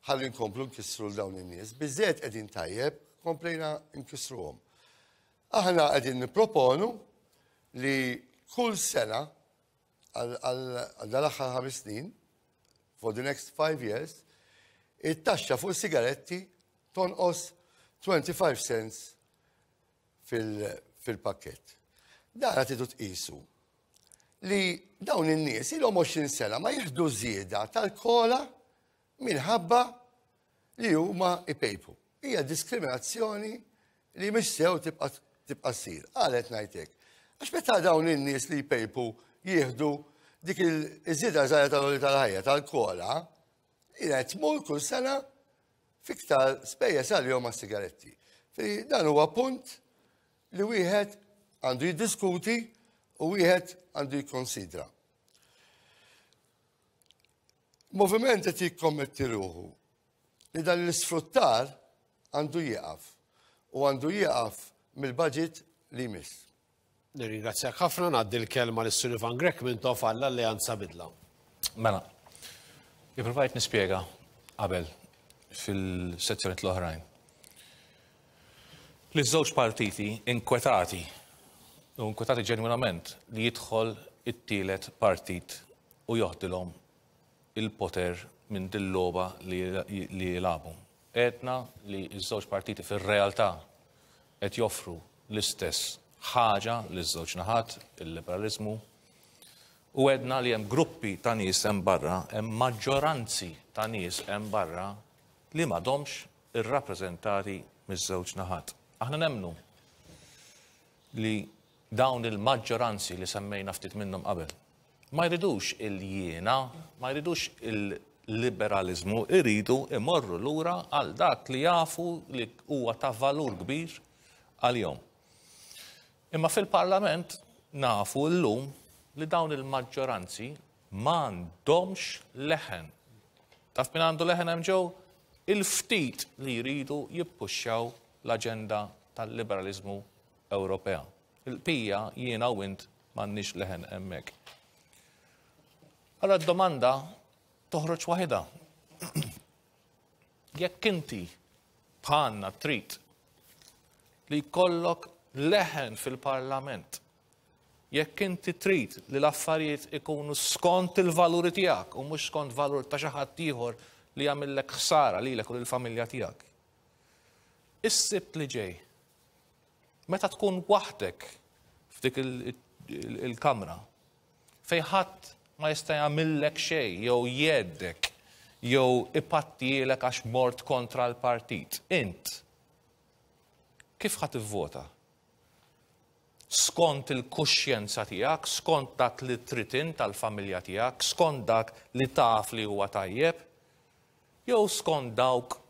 ħalli nkomplu nkissru l dawn in-nies. Biżżejjed qegħdin tajjeb, komplejna nkissruhom. Aħna qegħdin nipproponu li kull sena għal dal-aħħar ħames snin, for the next five years, it-taxxa fuq sigaretti tonqos 25 cents fil-pakket. Dan qed tqisu li dawn in-nies ilhom 20 sena ma jieħdu żieda tal-kola minħabba li huma ipejpu. Hija diskriminazzjoni li mhix sew tibqa' tibqa' ssir. Għalet ngħid hekk. Għax meta dawn in-nies li jpejpu jieħdu dik il-żieda żgħira tal-oli tal-ħajja tal-kola, hija tmur kull sena fiktar spejjeż għalihom għas-sigaretti. Dan huwa punt li wieħed għandu jiddiskuti u wieħed għandu jikkonsidra. Moviment qed jikkommetti ruħu li dan l-isfruttar għandu jieqaf u għandu jieqaf mill-budget li jmiss. Nirringrazzjak ħafna, ngħaddi l-kelma lis-Sur Ivan Grech Mintoff għall-Alleanza Bidla. Mela, ippruvajt nispjega qabel fil-sezzjonijiet l-oħrajn li ż-żewġ partiti inkwetati u inkwetati ġenwinament li jidħol it-tielet partit u joħdilhom il-poter minn dil-logħba li jilagħbu. Għedna li ż-żewġ partiti fir-realtà qed joffru l-istess ħaġa liż-żewġ naħat, il-liberaliżmu, u għedna li hemm gruppi ta' nies hemm barra, hemm maġġoranzi ta' nies hemm barra li m'għadhomx irrappreżentati miż-żewġ naħat. Aħna nemmnu li dawn il-maġġoranzi li semmejna ftit minnhom qabel, ma jridux il-jiena, ma jridux il-liberaliżmu, iridu imorru lura għal dak li jafu li huwa ta' valur kbir għalihom. Imma fil-Parlament nafu llum li dawn il-maġġoranzi m'għandhomx leħen. Taf min għandu leħen hemm ġew? Il-ftit li jridu jippuxxaw l-aġenda tal-liberaliżmu Ewropea. Il-bqija jiena u int m'għandniex leħen hemmhekk. Allora d-domanda toħroġ waħidha. Jekk inti bħalna trid li jkollok leħen fil-Parlament, jekk inti trid li l-affarijiet ikunu skont il-valuri tiegħek u mhux skont valur ta' xi ħadd ieħor li jagħmillek ħsara lilek u lill-familja tiegħek. Is-Sibt li ġej, Meta tkun waħdek f'dik il-kamra fejn ħadd ma jista' jagħmillek xejn jew jgħeddek jew ipattielek għax mort kontra l-partit, int kif ħa tivvota? Skont il-kuxjenza tiegħek, skont dak li trid int għall-familja tiegħek, skont dak li taf li huwa tajjeb, jew skont dawk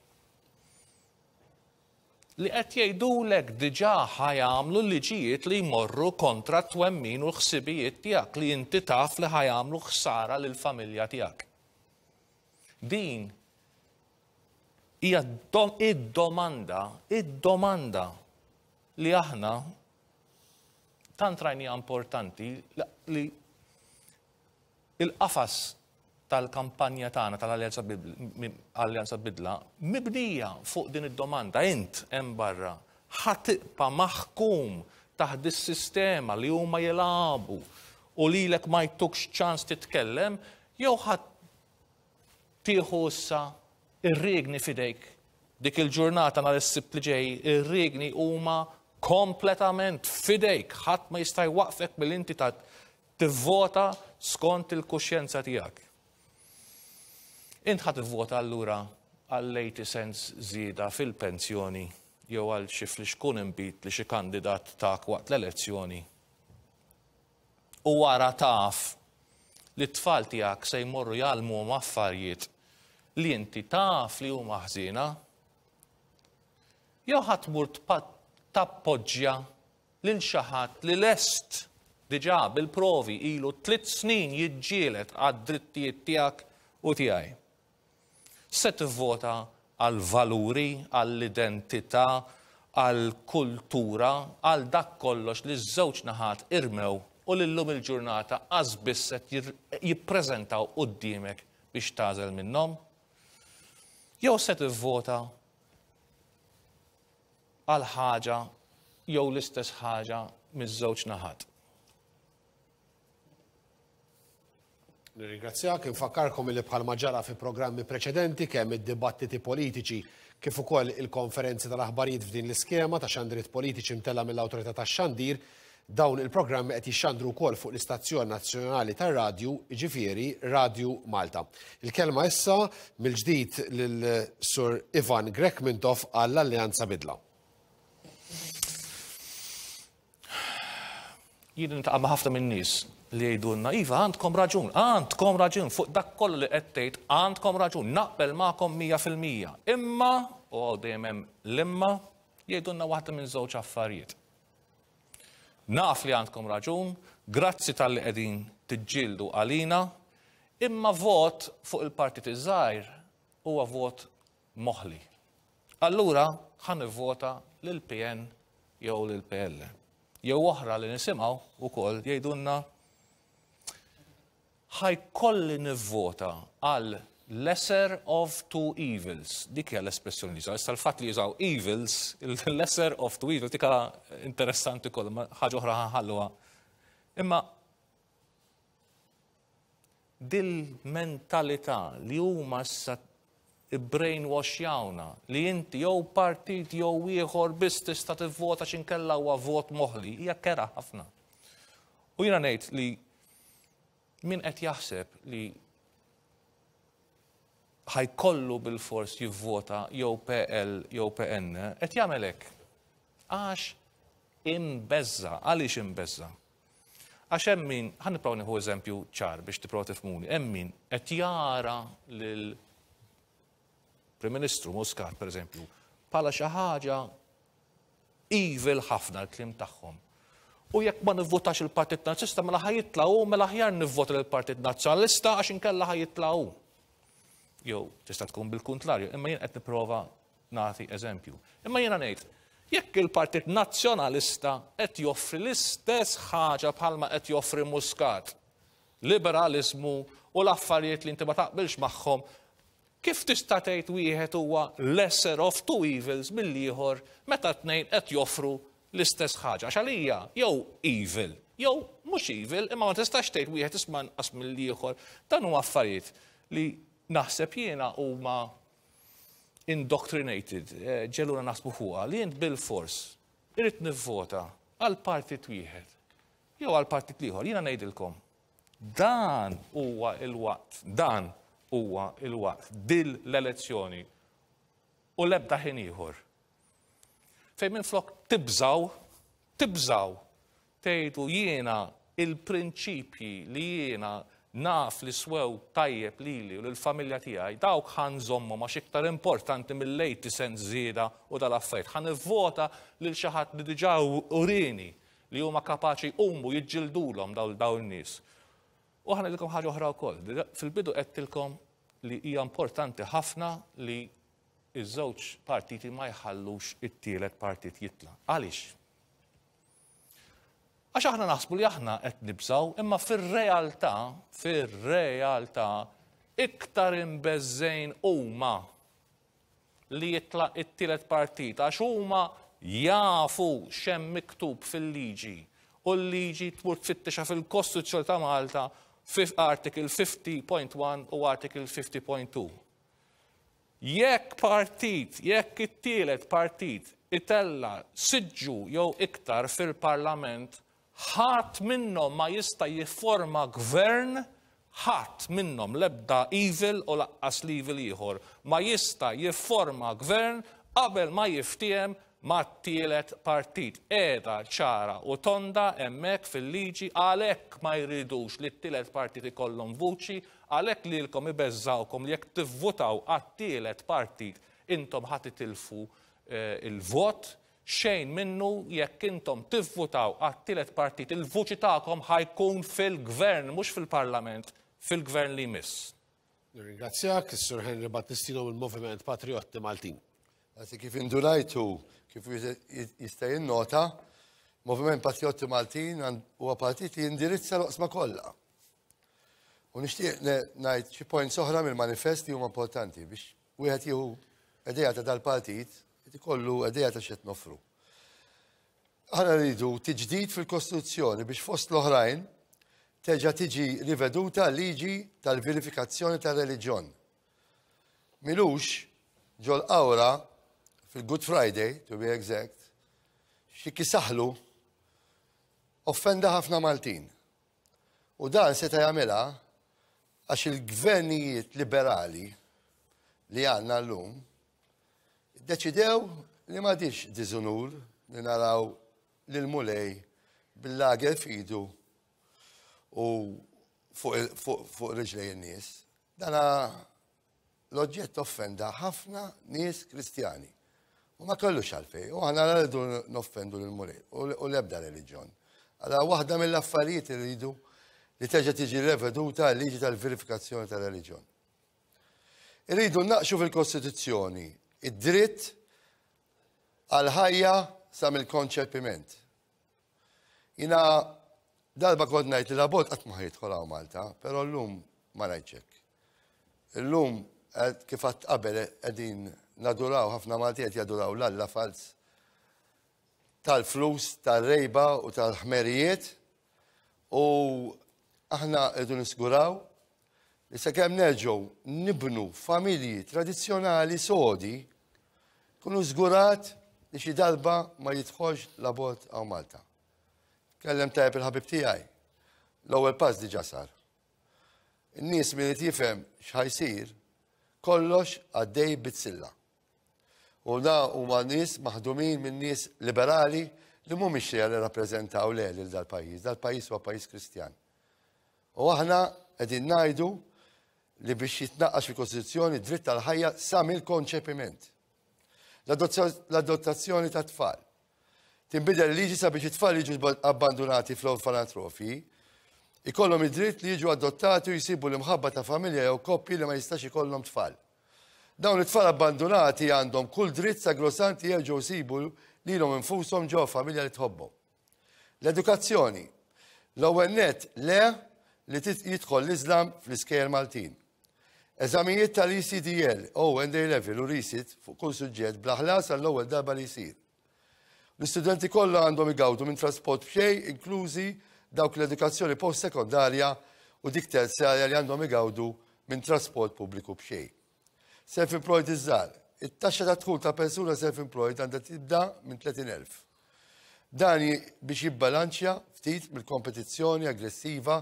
li qed jgħidulek diġà ħa jagħmlu liġijiet li jmorru kontra t-twemmin u l-ħsibijiet tiegħek li inti taf li ħa jagħmlu ħsara lill-familja tiegħek. Din hija id-domanda, id-domanda li aħna tant rajnija importanti li Il-qafas tal-kampanja tagħna tal-Alleanza Bidla mibnija fuq din id-domanda, int hemm barra ħa tibqa' maħkum taħt dis-sistema li huma jilagħbu u lilek ma jtukx ċans titkellem jew ħa tieħu issa ir-riegni f'idejk dik il-ġurnata nhar is-Sibt li ġej, ir-riegni huma kompletament f'idejk, ħadd ma jista' jwaqqfek milli inti Tivvota skont il-kuxjenza tiegħek. Int ħa tivvota allura għall-80 cents żieda fil-pensjoni jew għal xi flixkun inbid li xi kandidat tak waqt l-elezzjoni u wara taf li t-tfal tiegħek se jmorru jgħallmuhom affarijiet li inti taf li huma ħżiena? Jew ħa tmur tappoġġja lil xi ħadd li lest diġà bil-provi ilu tliet snin jiġġieled għad-drittijiet tiegħek u tiegħi. Se tivvota għall-valuri, għall-identità, għall-kultura, għal dak kollox li ż-żewġ naħat irmew u li llum il-ġurnata qas biss qed jippreżentaw quddiemek biex tagħżel minnhom? Jew se tivvota għal ħaġa jew l-istess ħaġa miż-żewġ naħat. Nirringrazzjak, infakkarkom li bħalma ġara fi programmi preċedenti kemm id-dibattiti politiċi kif ukoll il-konferenzi tal-aħbarijiet f'din l-iskema ta' xandiriet politiċi mtella' mill-Awtorità tax-Xandir, dawn il-programmi qed jixxandru wkoll fuq l-istazzjon nazzjonali tar-radju, jiġifieri Radju Malta. Il-kelma issa mill-ġdid lil Sur Ivan Grech Mintoff għall-Alleanza Bidla. Jien niltaqa' ma' ħafna min-nies li jgħidulna, iva għandkom raġun, għandkom raġun fuq dak kollu li qed tgħid, għandkom raġun, naqbel magħkom 100%. Imma, u hawn dejjem hemm l-imma, jgħidulna waħda minn żewġ affarijiet. Naf li għandkom raġun, grazzi talli qegħdin tiġġieldu għalina, imma vot fuq il-partit iż-żgħir huwa vot moħli. Allura ħa nivvota lill-PN jew lill-PL. Jew oħra li nisimgħu wkoll jgħidulna ħa jkolli nivvota għal lesser of two evils. Dik hija l-espressjoni li jużaw. Issa l-fatt li jużaw evils, il-lesser of two evils, dik interessanti koll, ħaġa oħra ħalluha. Imma dil-mentalità li huma issa brainwashjawna li inti jew partit jew ieħor biss tista' tivvota x'inkella huwa vot moħli, hija kerha ħafna. U jiena ngħid li min qed jaħseb li ħa jkollu bilfors jivvota jew PL jew PN, qed jagħmel hekk. Għax imbeżża'. Għaliex imbeżża'? Għax hemm min, ħa nipprova nieħu eżempju ċar biex tipprova tifhmuni, hemm min qed jara lil Prim Ministru Muscat, per eżempju, bħala xi ħaġa evil ħafna l-kliem tagħhom. U jekk ma nivvotax il-Partit Nazzjonalista mela ħa jitla' hu, mela aħjar nivvota lill-Partit Nazzjonalista għax inkella ħa jitla' hu. Jew tista' tkun bil-kuntrarju, imma jien qed nipprova nagħti eżempju. Imma jiena ngħid, jekk il-Partit Nazzjonalista qed joffri l-istess ħaġa bħalma qed joffri Muscat, liberaliżmu u l-affarijiet li inti ma taqbilx magħhom, kif tista' tgħid wieħed huwa lesser of two evils mill-ieħor meta t-tnejn qed joffru l-istess ħaġa? Għax għalija jew evil jew mhux evil, imma ma tistax tgħid wieħed isma' inqas mill-ieħor. Dan huma affarijiet li naħseb jiena huma indoctrinated, ġeluna naħsbu fuqha, li int bilfors irrid nivvota għal partit wieħed jew għal partit l-ieħor. Jiena ngħidilkom, dan huwa il-waqt, dan huwa il-waqt, dil l-elezzjoni u l-ebda ħin ieħor. Fejn minflok tibżaw, tibżaw, tgħidu jiena il-prinċipji li jiena naf li swew tajjeb lili u lill-familja tiegħi, dawk ħa nżommhom għax iktar importanti mill-80 cents żieda u dal-affarijiet. Ħa nivvota lil xi ħadd li diġà urieni li huma kapaċi jqumu jiġġildulhom dawn in-nies. U ħa ngħidilkom ħaġa oħra wkoll. Fil-bidu għedtilkom li hija importanti ħafna li ż-żewġ partiti ma jħallux it-tielet partit jitla'. Għaliex? Għax aħna naħsbu li aħna qed nibżgħu, imma fir-realtà, fir-realtà, iktar imbeżżgħin huma li jitla' it-tielet partit għax huma jafu x'hemm miktub fil-liġi u l-liġi tmur tfittixha fil-Kostituzzjoni ta' Malta f'Article 50.1 u Article 50.2. Jekk partit, jekk it-tielet partit itella' siġġu jew iktar fil-Parlament, ħadd minnhom ma jista' jifforma gvern, ħadd minnhom, l-ebda evil u laqqas l-evil ieħor, ma jista' jifforma gvern qabel ma jiftiehem mat-tielet partit. Qiegħda ċara u tonda hemmhekk fil-liġi, għalhekk ma jridux li t-tielet partit ikollhom vuċi, għalhekk lilkom ibeżżgħukom li jekk tivvutaw għat-tielet partit intom ħa titilfu l-vot. Xejn minnu, jekk intom tivvutaw għat-tielet partit il-vuċi tagħkom ħa jkun fil-gvern, mhux fil-parlament, fil-gvern li jmiss. Nirringrazzjak, is-Sur Henry Battistino mill-Moviment Patriotti Maltin. Grazzi kif indunajtu, kif wieħed jista' jinnota, Moviment Patriotti Maltin huwa partit li jindirizza l-oqsma kollha. U nixtieq ngħid xi points oħra mill-manifest li huma importanti biex wieħed jieħu idea ta' dal-partit, ikollu idea ta' x'qed noffru. Aħna rridu tiġdid fil-Kostituzzjoni biex fost l-oħrajn terġa' tiġi riveduta liġi tal-verifikazzjoni tar-reliġjon. Milux ġol-qawra fil-Good Friday, to be exact, xi kisaħlu offenda ħafna Maltin. U dan seta' jagħmilha għax il-gvernijiet liberali li għandna llum Iddeċidew li m'għadhiex diżunur li naraw lill-Mulej bil-lager f'idu u fuq riġlej in-nies. Dana l-oġġett offenda ħafna nies Kristjani. U ma kellux għalfej, u aħna rridu noffendu lill-Mulej u l-ebda reliġjon. Għala waħda mill-affarijiet li rridu li terġa' tiġi reveduta l-liġi tal-verifikazzjoni tal-reliġjon. Irridu nnaqqxu fil-Kostituzzjoni id-dritt għall-ħajja sa mill-konċepiment. Jiena darba kont ngħid li l-abort qatt ma jidħol hawn Malta, però llum ma ngħidx hekk. Illum kif għadt qabel qegħdin naduraw ħafna Malti qed jaduraw l-alla falz tal-flus, tal-rejba u tal-ħmerijiet u aħna rridu nisguraw li sakemm nerġgħu nibnu familji tradizzjonali sodi, kunu żgurat li xi darba ma jidħolx l-abort hawn Malta. Kellem tajjeb il-ħabib tiegħi. L-ewwel pass diġà sar. In-nies min irid jifhem x'ħajsir, kollox għaddej bizzilla. U da huma nies maħdumin minn nies liberali li mhumiex se jirrappreżentaw le lil dal-pajjiż. Dal-pajjiż huwa pajjiż Kristjan. U aħna qegħdin ngħidu li biex jitnaqqax fil-Kostituzzjoni dritt tal-ħajja sa mill-konċepiment. L-adottazzjoni ta' tfal. Tinbidel liġi sabiex it-tfal jiġu abbandunati fl-orfanatrofji, ikollhom id-dritt li jiġu adottati u jsibu l-imħabba ta' familja jew koppji li ma jistax ikollhom tfal. Dawn it-tfal abbandunati għandhom kull dritt sagrosant li jerġgħu jsibu lilhom infushom ġewwa familja li tħobbhom. L-edukazzjoni. L-ewwel nett le li jidħol l-Iżlam fl-iskejjel Maltin. Eżamijiet tal-ECDL, O and A Level u Resit fuq kull suġġett bla ħlas għall-ewwel darba li jsir. L-istudenti kollha għandhom igawdu minn trasport b'xejn inklużi dawk l-edukazzjoni post-sekondarja u dik terzjarja li għandhom igawdu minn trasport pubbliku b'xejn. Self-employed iż-żgħar. It-taxxa ta' dħul ta' persuna self-employed għandha tibda minn 30,000. Dan biex jibbalanċja ftit mill-kompetizzjoni aggressiva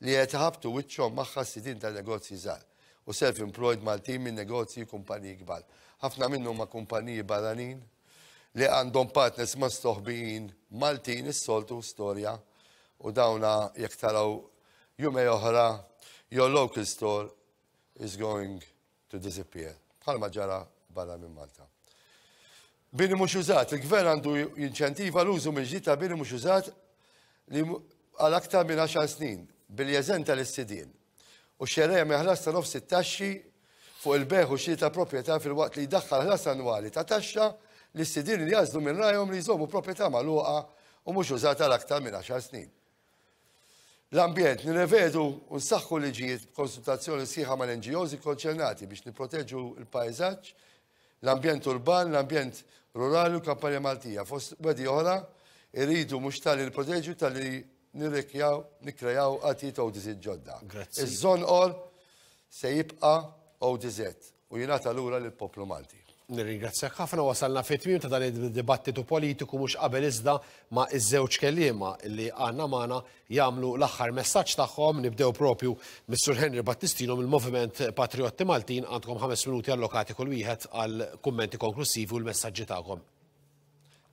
li qed iħabbtu wiċċhom magħha s-sidien ta' negozji żgħar u self-employed Maltin minn negozji u kumpaniji kbar. Ħafna minnhom huma kumpaniji barranin li għandhom partners mastoħbijin Maltin is-soltu storja u dawna jekk taraw jumej oħra your local store is going to disappear, bħalma ġara barra minn Malta. Bini mhux użat, il-gvern għandu jinċentiva l-użu mill-ġdid ta' bini mhux użat li għal aktar minn 10 snin billi jeżenta lis-sidien u xerreja minn ħlas ta' nofs it-taxxi fuq il-bejgħ u xiri ta' proprjetà filwaqt li jdaħħal ħlas annwali ta' taxxa lis-sidien li jagħżlu minn rajhom li jżommu proprjetà magħluqa u mhux użata għal aktar minn 10 snin. L-ambjent, nirrevedu u nsaħħu liġijiet b'konsultazzjoni sħiħa mal-NGOs ikkonċernati biex nipproteġu l-pajżaġġ, l-ambjent urban, l-ambjent rurali u l-kampanja Maltija. Fost wegħdi oħra, irridu mhux talli nipproteġu talli nirrikjaw, nikkrejaw artijiet ODZ ġodda. Grazzi. Iż-Żonqor se jibqa' ODZ u jingħata lura lill-poplu Malti. Nirringrazzjak ħafna wasalna fit-tmiem ta' dan id-dibattitu politiku mhux qabel iżda ma' iż-żewġ kelliema li għandna magħna jagħmlu l-aħħar messaġġ tagħhom. Nibdew propju mis-Sur Henry Battistino mill-Moviment Patriotti Maltin għandkom ħames minuti allokati kull wieħed għal kummenti konklusivi u l-messaġġi tagħkom.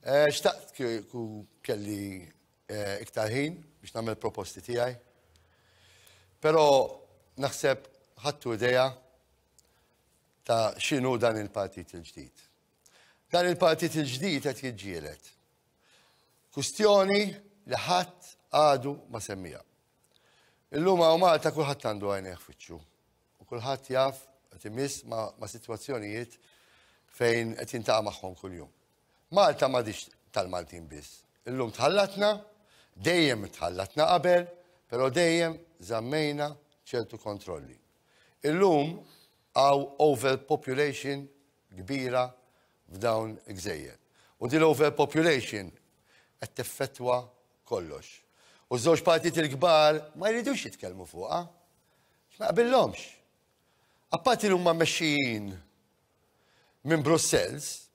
Eh, xtaqt kieku kelli eh, iktar ħin biex nagħmel proposti tiegħi. Però naħseb ħadtu idea ta' x'inhu dan il-partit il-ġdid. Dan il-partit il-ġdid qed jiġġieled. Kustjoni li ħadd għadu ma semmija. Illum hawn Malta kulħadd għandu għajnejh fiċċu u kulħadd jaf qed imiss ma', ma sitwazzjonijiet fejn qed jintaqa' magħhom kuljum. Malta m'għadix tal-Maltin biss. Illum tħallatna, dejjem tħallatna qabel, però dejjem żammejna ċertu kontrolli. Illum hawn overpopulation kbira f'dawn il-gżejjer. U din l-overpopulation qed teffettwa kollox. U ż-żewġ partiti l-kbar ma jridux jitkellmu fuqha. Ma jaqbillhomx. Apparti li huma mmexxijin minn Brussels,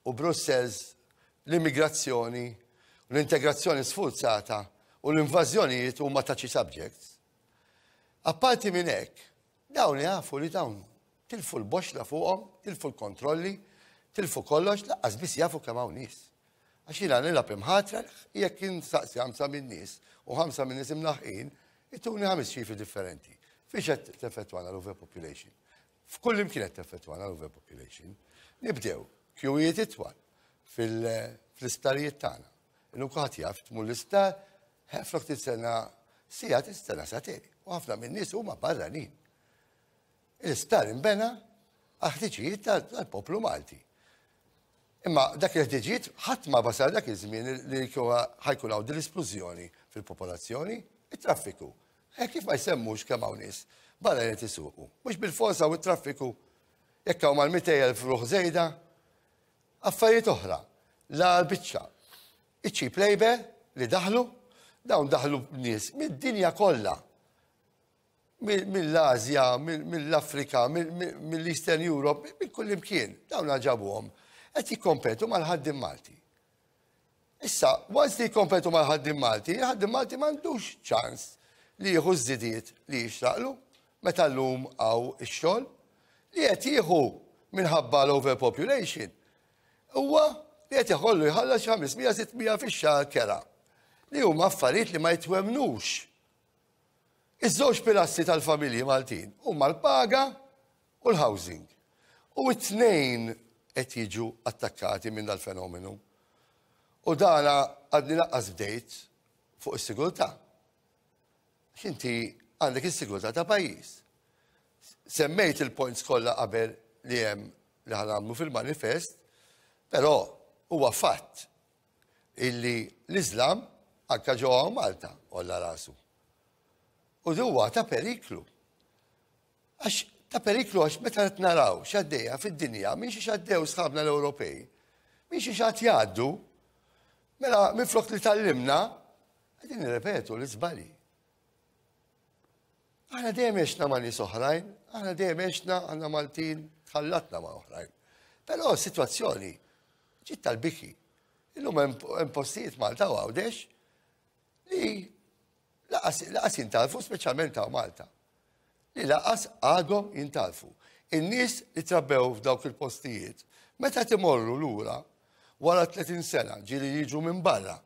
u Brussels l-immigrazzjoni u l-integrazzjoni sfurzata u l-invażjonijiet huma touchy subjects. Apparti minn hekk, dawn jafu li dawn tilfu l-boxla fuqhom, tilfu l-kontrolli, tilfu kollox, laqqas biss jafu kemm hawn nies. Għax jiena nilgħab imħatra jekk insaqsi ħamsa minn nies u ħamsa minn nies imlaħqin, ituni ħames ċifri differenti. Fiex qed teffettwana l-overpopulation? F'kull imkien qed teffettwana l-overpopulation. Nibdew kjuwijiet itwal fl-isptarijiet tagħna. Illum kulħadd jaf tmur l-isptar, flok tistenna siegħa tistenna sagħtejn. U ħafna min-nies huma barranin. L-isptar inbena għal ħtiġijiet tal-poplu Malti. Imma dak il-ħtiġijiet ħadd ma basar dak iż-żmien li ħa jkun hawn din l-isplużjoni fil-popolazzjoni, it-traffiku. Eh, kif ma jsemmux kemm hawn nies barra qed isuqu. Mhux bil-forsa u t-traffiku jekk hawn mal-200,000 ruħ żejda, affarijiet oħra, la biċċa. Iċ-cheap labor li daħlu, dawn daħlu nies mid-dinja kollha. Mill-Asja, mill-Afrika, mill-Eastern Europe, minn kull imkien, dawn ġabuhom qed jikkompetu mal-ħaddiem Malti. Issa, once li jikkompetu mal-ħaddiem Malti, il-ħaddiem Malti m'għandux ċans li jieħu żidiet li jixraqlu meta llum hawn ix-xogħol li qed jieħu minħabba l-overpopulation huwa li qed jħollu jħallas 500-600 fix-xahar kera li huma affarijiet li ma jitwemnux. Iż-żewġ pilastri tal-familji Maltin huma l-paga u l-housing. U t-tnejn qed jiġu attakkati minn dal-fenomenu. U dana għadni lanqas bdejt fuq is-sigurtà. Inti għandek is-sigurtà ta' pajjiż. Semmejt il-points kollha qabel li hemm li ħa nagħmlu fil-manifest, però huwa fatt illi l-Islam anka ġewwa Malta għolla rasu. U huwa ta' periklu. Għax ta' periklu għax meta qed naraw x'għaddejja fid-dinja minn xi x'għaddew sħabna l-Ewropej, minn xi x'għad jgħaddu, mela minflok li tgħallimna, qegħdin nirrepetu l-iżbalji. Aħna dejjem għexna ma' nies oħrajn, aħna dejjem għexna għandna Maltin tħallatna ma' oħrajn. Però s-sitwazzjoni ġiet tal-biki. Illum hemm postijiet Malta u Għawdex li lanqas jintgħarfu, speċjalment ta' Malta, li lanqas għadhom jintgħarfu. In-nies li trabbew f'dawk il-postijiet, meta timorru lura wara 30 sena ġieli jiġu minn barra,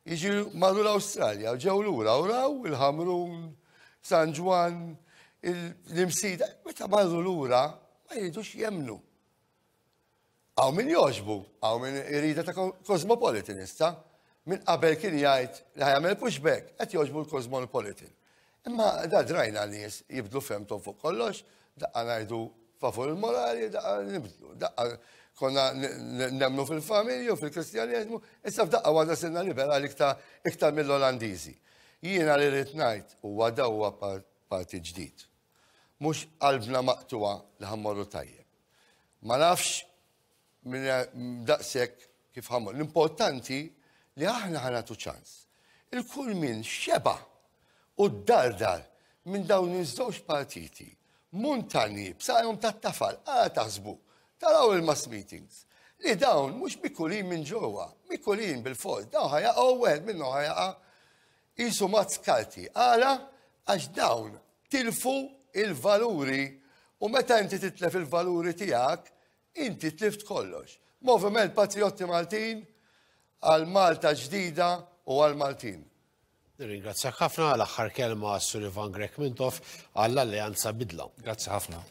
jiġi marru l-Awstralja, ġew lura u raw il-Ħamrun, San Ġwann, l-Imsida, meta marru lura ma jridux jemnu. Hawn min jogħġbu, hawn min irida ta' cosmopolitanista, minn qabel kien jgħid li ħa jagħmel pushback, qed jogħġbu l-cosmopolitan. Imma da drajna nies jibdlu fehmthom fuq kollox, daqqa ngħidu favur il-morali, daqqa nibdlu, daqqa konna nemmnu fil-familji u fil-kristjaneżmu, issa f'daqqa waħda sirna liberali iktar mill-Olandiżi. Jiena li rrid ngħid huwa da huwa parti ġdid. Mhux qalbna maqtuwa li ħa mmorru tajjeb. Ma nafx minn daqshekk kif ħa mmorru. L-importanti li aħna ħa nagħtu ċans. Il-kull min xeba u dardar minn dawn iż-żewġ partiti, muntanji b'saqajhom tat-tafal, għala taħsbu, taraw il-mass meetings, li dawn mhux mikulin minn ġewwa, mikulin bil-fors, dawn ħa jaqgħu wieħed minnhom ħa jaqa' qisu mazz karti. Għala? Għax dawn tilfu il-valuri u meta inti titlef il-valuri tiegħek, inti tlift kollox. Moviment Patrijotti Maltin għal Malta ġdida u għal Maltin. Nirringrazzjak ħafna għal aħħar kelma Sur Ivan Grech Mintoff għall-Alleanza Bidla. Grazzi ħafna.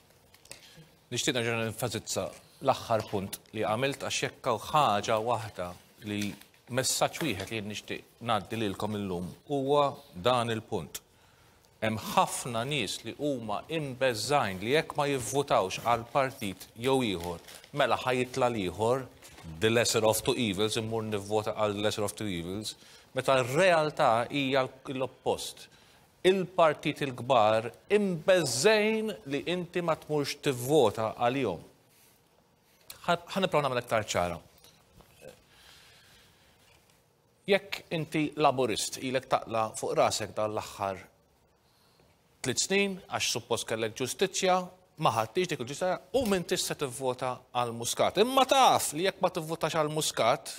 Nixtieq nerġa' nenfasizza l-aħħar punt li għamilt għax jekk hawn ħaġa waħda li messaġġ wieħed li jien nixtieq ngħaddi lilkom illum huwa dan il-punt. Hemm ħafna nies li huma imbeżżgħin li jekk ma jivvutawx għal partit jew ieħor, mela ħa jitla' l-ieħor, the lesser of two evils, immur nivvota għal the lesser of two evils, meta r-realtà hija l-oppost. Il-partit il-kbar imbeżżgħin li inti ma tmurx tivvota għalihom. Ħa nipprova nagħmel aktar ċara. Jekk inti Laburist ilek taqla' fuq rasek dan l-aħħar tliet snin għax suppost kellek ġustizzja, ma ħadtix dik il-ġustizzja u m'intix se tivvota għal Muscat. Imma taf li jekk ma tivvotax għal Muscat,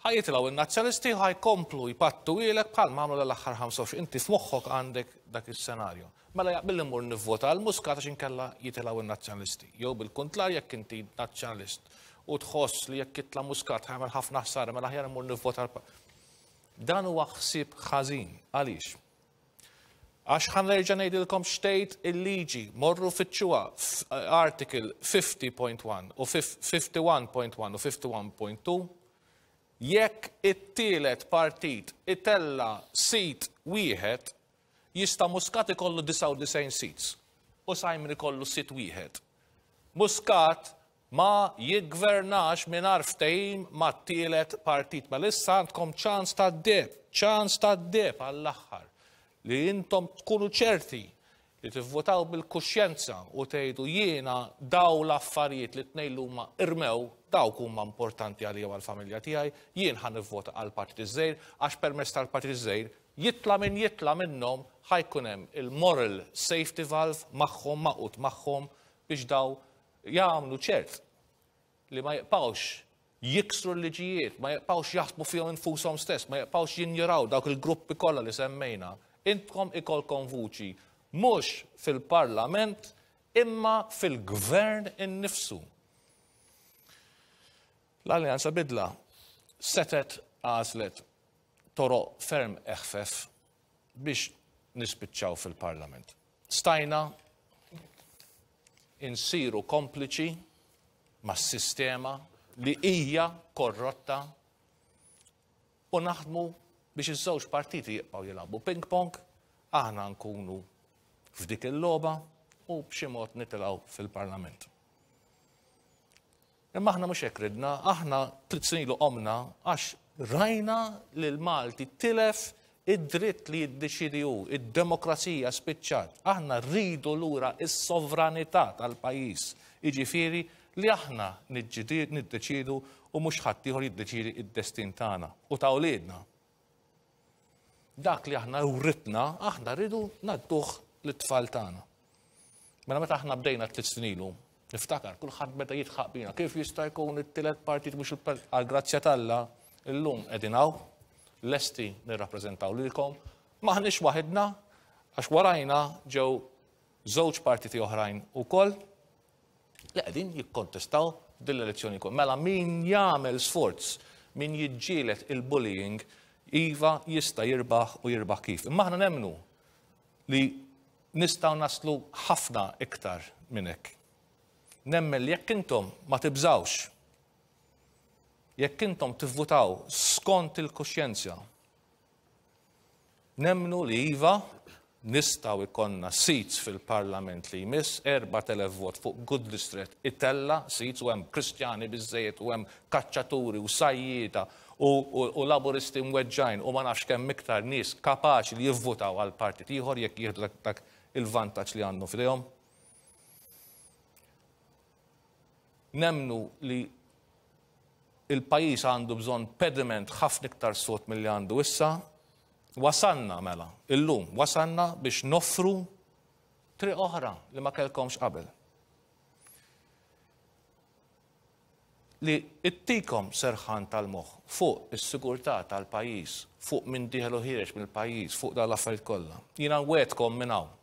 ħa jitilgħu n-Nazzjonisti u ħa jkomplu jpattuhielek bħal ma għamlu l-aħħar 25. Inti f'moħħok għandek dak is-senarju. Mela jaqbilli mmur nivvota għal Muscat għax inkella jitilgħu n-Nazzjonalisti. Jew bil-kuntlar jekk inti Nazzjonalist u tħoss li jekk jitla' Muscat ħa jagħmel ħafna ħsara mela aħjar immur nivvota għal Dan huwa ħsieb ħażin. Għaliex? Għax ħa nerġa' ngħidilkom x'tgħid il-liġi, morru fittxuha article 50.1 u 51.1 u 51.2 jekk it-tielet partit itella' seat wieħed Jista' Muscat ikollu 99 seats u Simon ikollu seat wieħed. Muscat ma jiggvernax mingħajr ftehim mat-tielet partit. Mela issa għandkom ċans tad-deheb, ċans tad-deheb għall-aħħar li intom tkunu ċerti li tivvotaw bil-kuxjenza u tgħidu jiena daw l-affarijiet li tnejn li huma irmew dawk huma importanti għalija u għall-familja tiegħi, jien ħa nivvota għall-partit iż-żgħir għax permezz tal-partit iż-żgħir jitla' min jitla' minnhom ħa jkun hemm il-moral safety valve magħhom, magħqud magħhom biex daw jagħmlu ċert li ma jibqgħux jiksru l-liġijiet, ma jibqgħux jaħsbu fihom infushom stess, ma jibqgħux jinjoraw dawk il-gruppi kollha li semmejna. Intkom ikolkom vuċi mhux fil-Parlament imma fil-Gvern innifsu. L-Alleanza Bidla setgħet għażlet toroq ferm eħfef biex nispiċċaw fil-Parlament. Stajna insiru kompliċi mas-sistema li hija korrotta u naħdmu biex iż-żewġ partiti jibqgħu jilagħbu ping-pong, aħna nkunu f'dik il-logħba u b'xi mod nitilgħu fil-Parlament. Imma aħna mhux hekk ridna, aħna tliet snin ilu qomna għax rajna li l-Malti tilef id-dritt li jiddeċiedi hu, id-demokrazija spiċċat. Aħna rridu lura s-sovranità tal-pajjiż, jiġifieri li aħna niddeċiedu u mhux ħaddieħor jiddeċiedi d-destin tagħna u ta' wliedna. Dak li aħna writna, aħna rridu ngħadduh lit-tfal tagħna. Mela meta aħna bdejna tliet snin ilu, niftakar kulħadd beda jidħaq bina, kif jista' jkun it-tielet partit mhux għall-grazzja t'Alla, illum qegħdin hawn, lesti nirrappreżentaw lilkom, m'aħniex waħidna għax warajna ġew żewġ partiti oħrajn ukoll li qegħdin jikkontestaw din l-elezzjoni wkoll. Mela min jagħmel sforz, min jiġġieled il-bullying, iva jista' jirbaħ u jirbaħ kif. Imma aħna nemmnu li nistgħu naslu ħafna iktar minn hekk. Nemmen li jekk intom ma tibżgħux, jekk intom tivvutaw skont il-kuxjenza, Nemmnu li iva, nistgħu jkollna seats fil-Parlament li jmiss, 4,000 vot fuq good district itella' seats u hemm Kristjani biżżejjed u hemm kaċċaturi u sajjieda u u Laburisti mweġġgħin u ma nafx kemm iktar nies kapaċi li jivvutaw għal partit ieħor jekk jieħdu dak il-vantaġġ li għandhom f'idejhom. Nemmnu li Il-pajjiż għandu bżonn pediment ħafna iktar sod milli għandu issa. Wasalna mela, illum, wasalna biex noffru triq oħra li ma kellkomx qabel. Li ittikom serħan tal-moħħ fuq is-sigurtà tal-pajjiż, fuq min dieħel u ħiereġ mill-pajjiż, fuq dawn l-affarijiet kollha. Jiena nwegħedkom minn hawn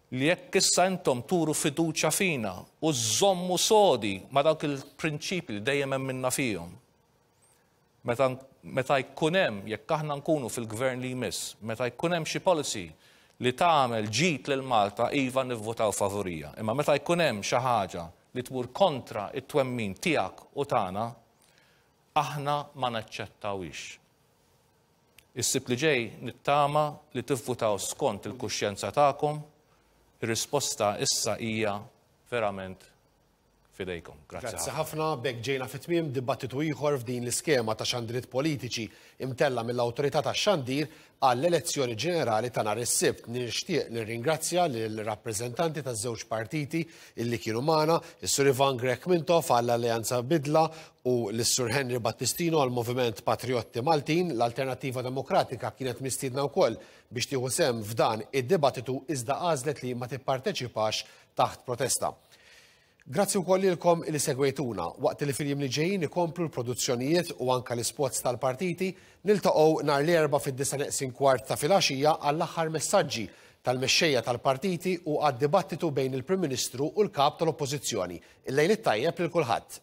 li jekk issa intom turu fiduċja fina u żżommu sodi ma' dawk il-prinċipji li dejjem emminna fihom, meta meta jkun hemm, jekk aħna nkunu fil-gvern li jmiss, meta jkun hemm xi policy li tagħmel ġid lil Malta, iva nivvotaw favurija. Imma meta jkun hemm xi ħaġa li tmur kontra t-twemmin tiegħek u tagħna, aħna ma naċċettawhiex. Is-Sibt li ġej nittama li tivvutaw skont il-kuxjenza tagħkom. Ir-risposta issa hija verament f'idejkom. Grazzi Grazzi ħafna. B'hekk ġejna fi tmiem dibattitu ieħor f'din l-iskema ta' xandiriet politiċi imtella' mill-Awtorità tax-Xandir għall-elezzjoni ġenerali ta' nhar is-Sibt. Nixtieq nirringrazzja lill-rappreżentanti taż-żewġ partiti illi kienu magħna, is-Sur Ivan Grech Mintoff għall-Alleanza Bidla u lis-Sur Henry Battistino għall-Moviment Patrijotti Maltin. L-Alternattiva Demokratika kienet mistiedna wkoll biex tieħu sehem f'dan id-dibattitu iżda għażlet li ma tipparteċipax taħt protesta. Grazzi wkoll lilkom li segwejtuna. Waqt li fil-jiem li ġejjin ikomplu l-produzzjonijiet u anka l-ispots tal-partiti, niltaqgħu nhar l-Erbgħa fid-disgħa neqsin kwart ta' filgħaxija għall-aħħar messaġġi tal-mexxejja tal-partiti u għad-dibattitu bejn il-Prim Ministru u l-Kap tal-Oppożizzjoni. Il-lejl it-tajjeb lil kulħadd.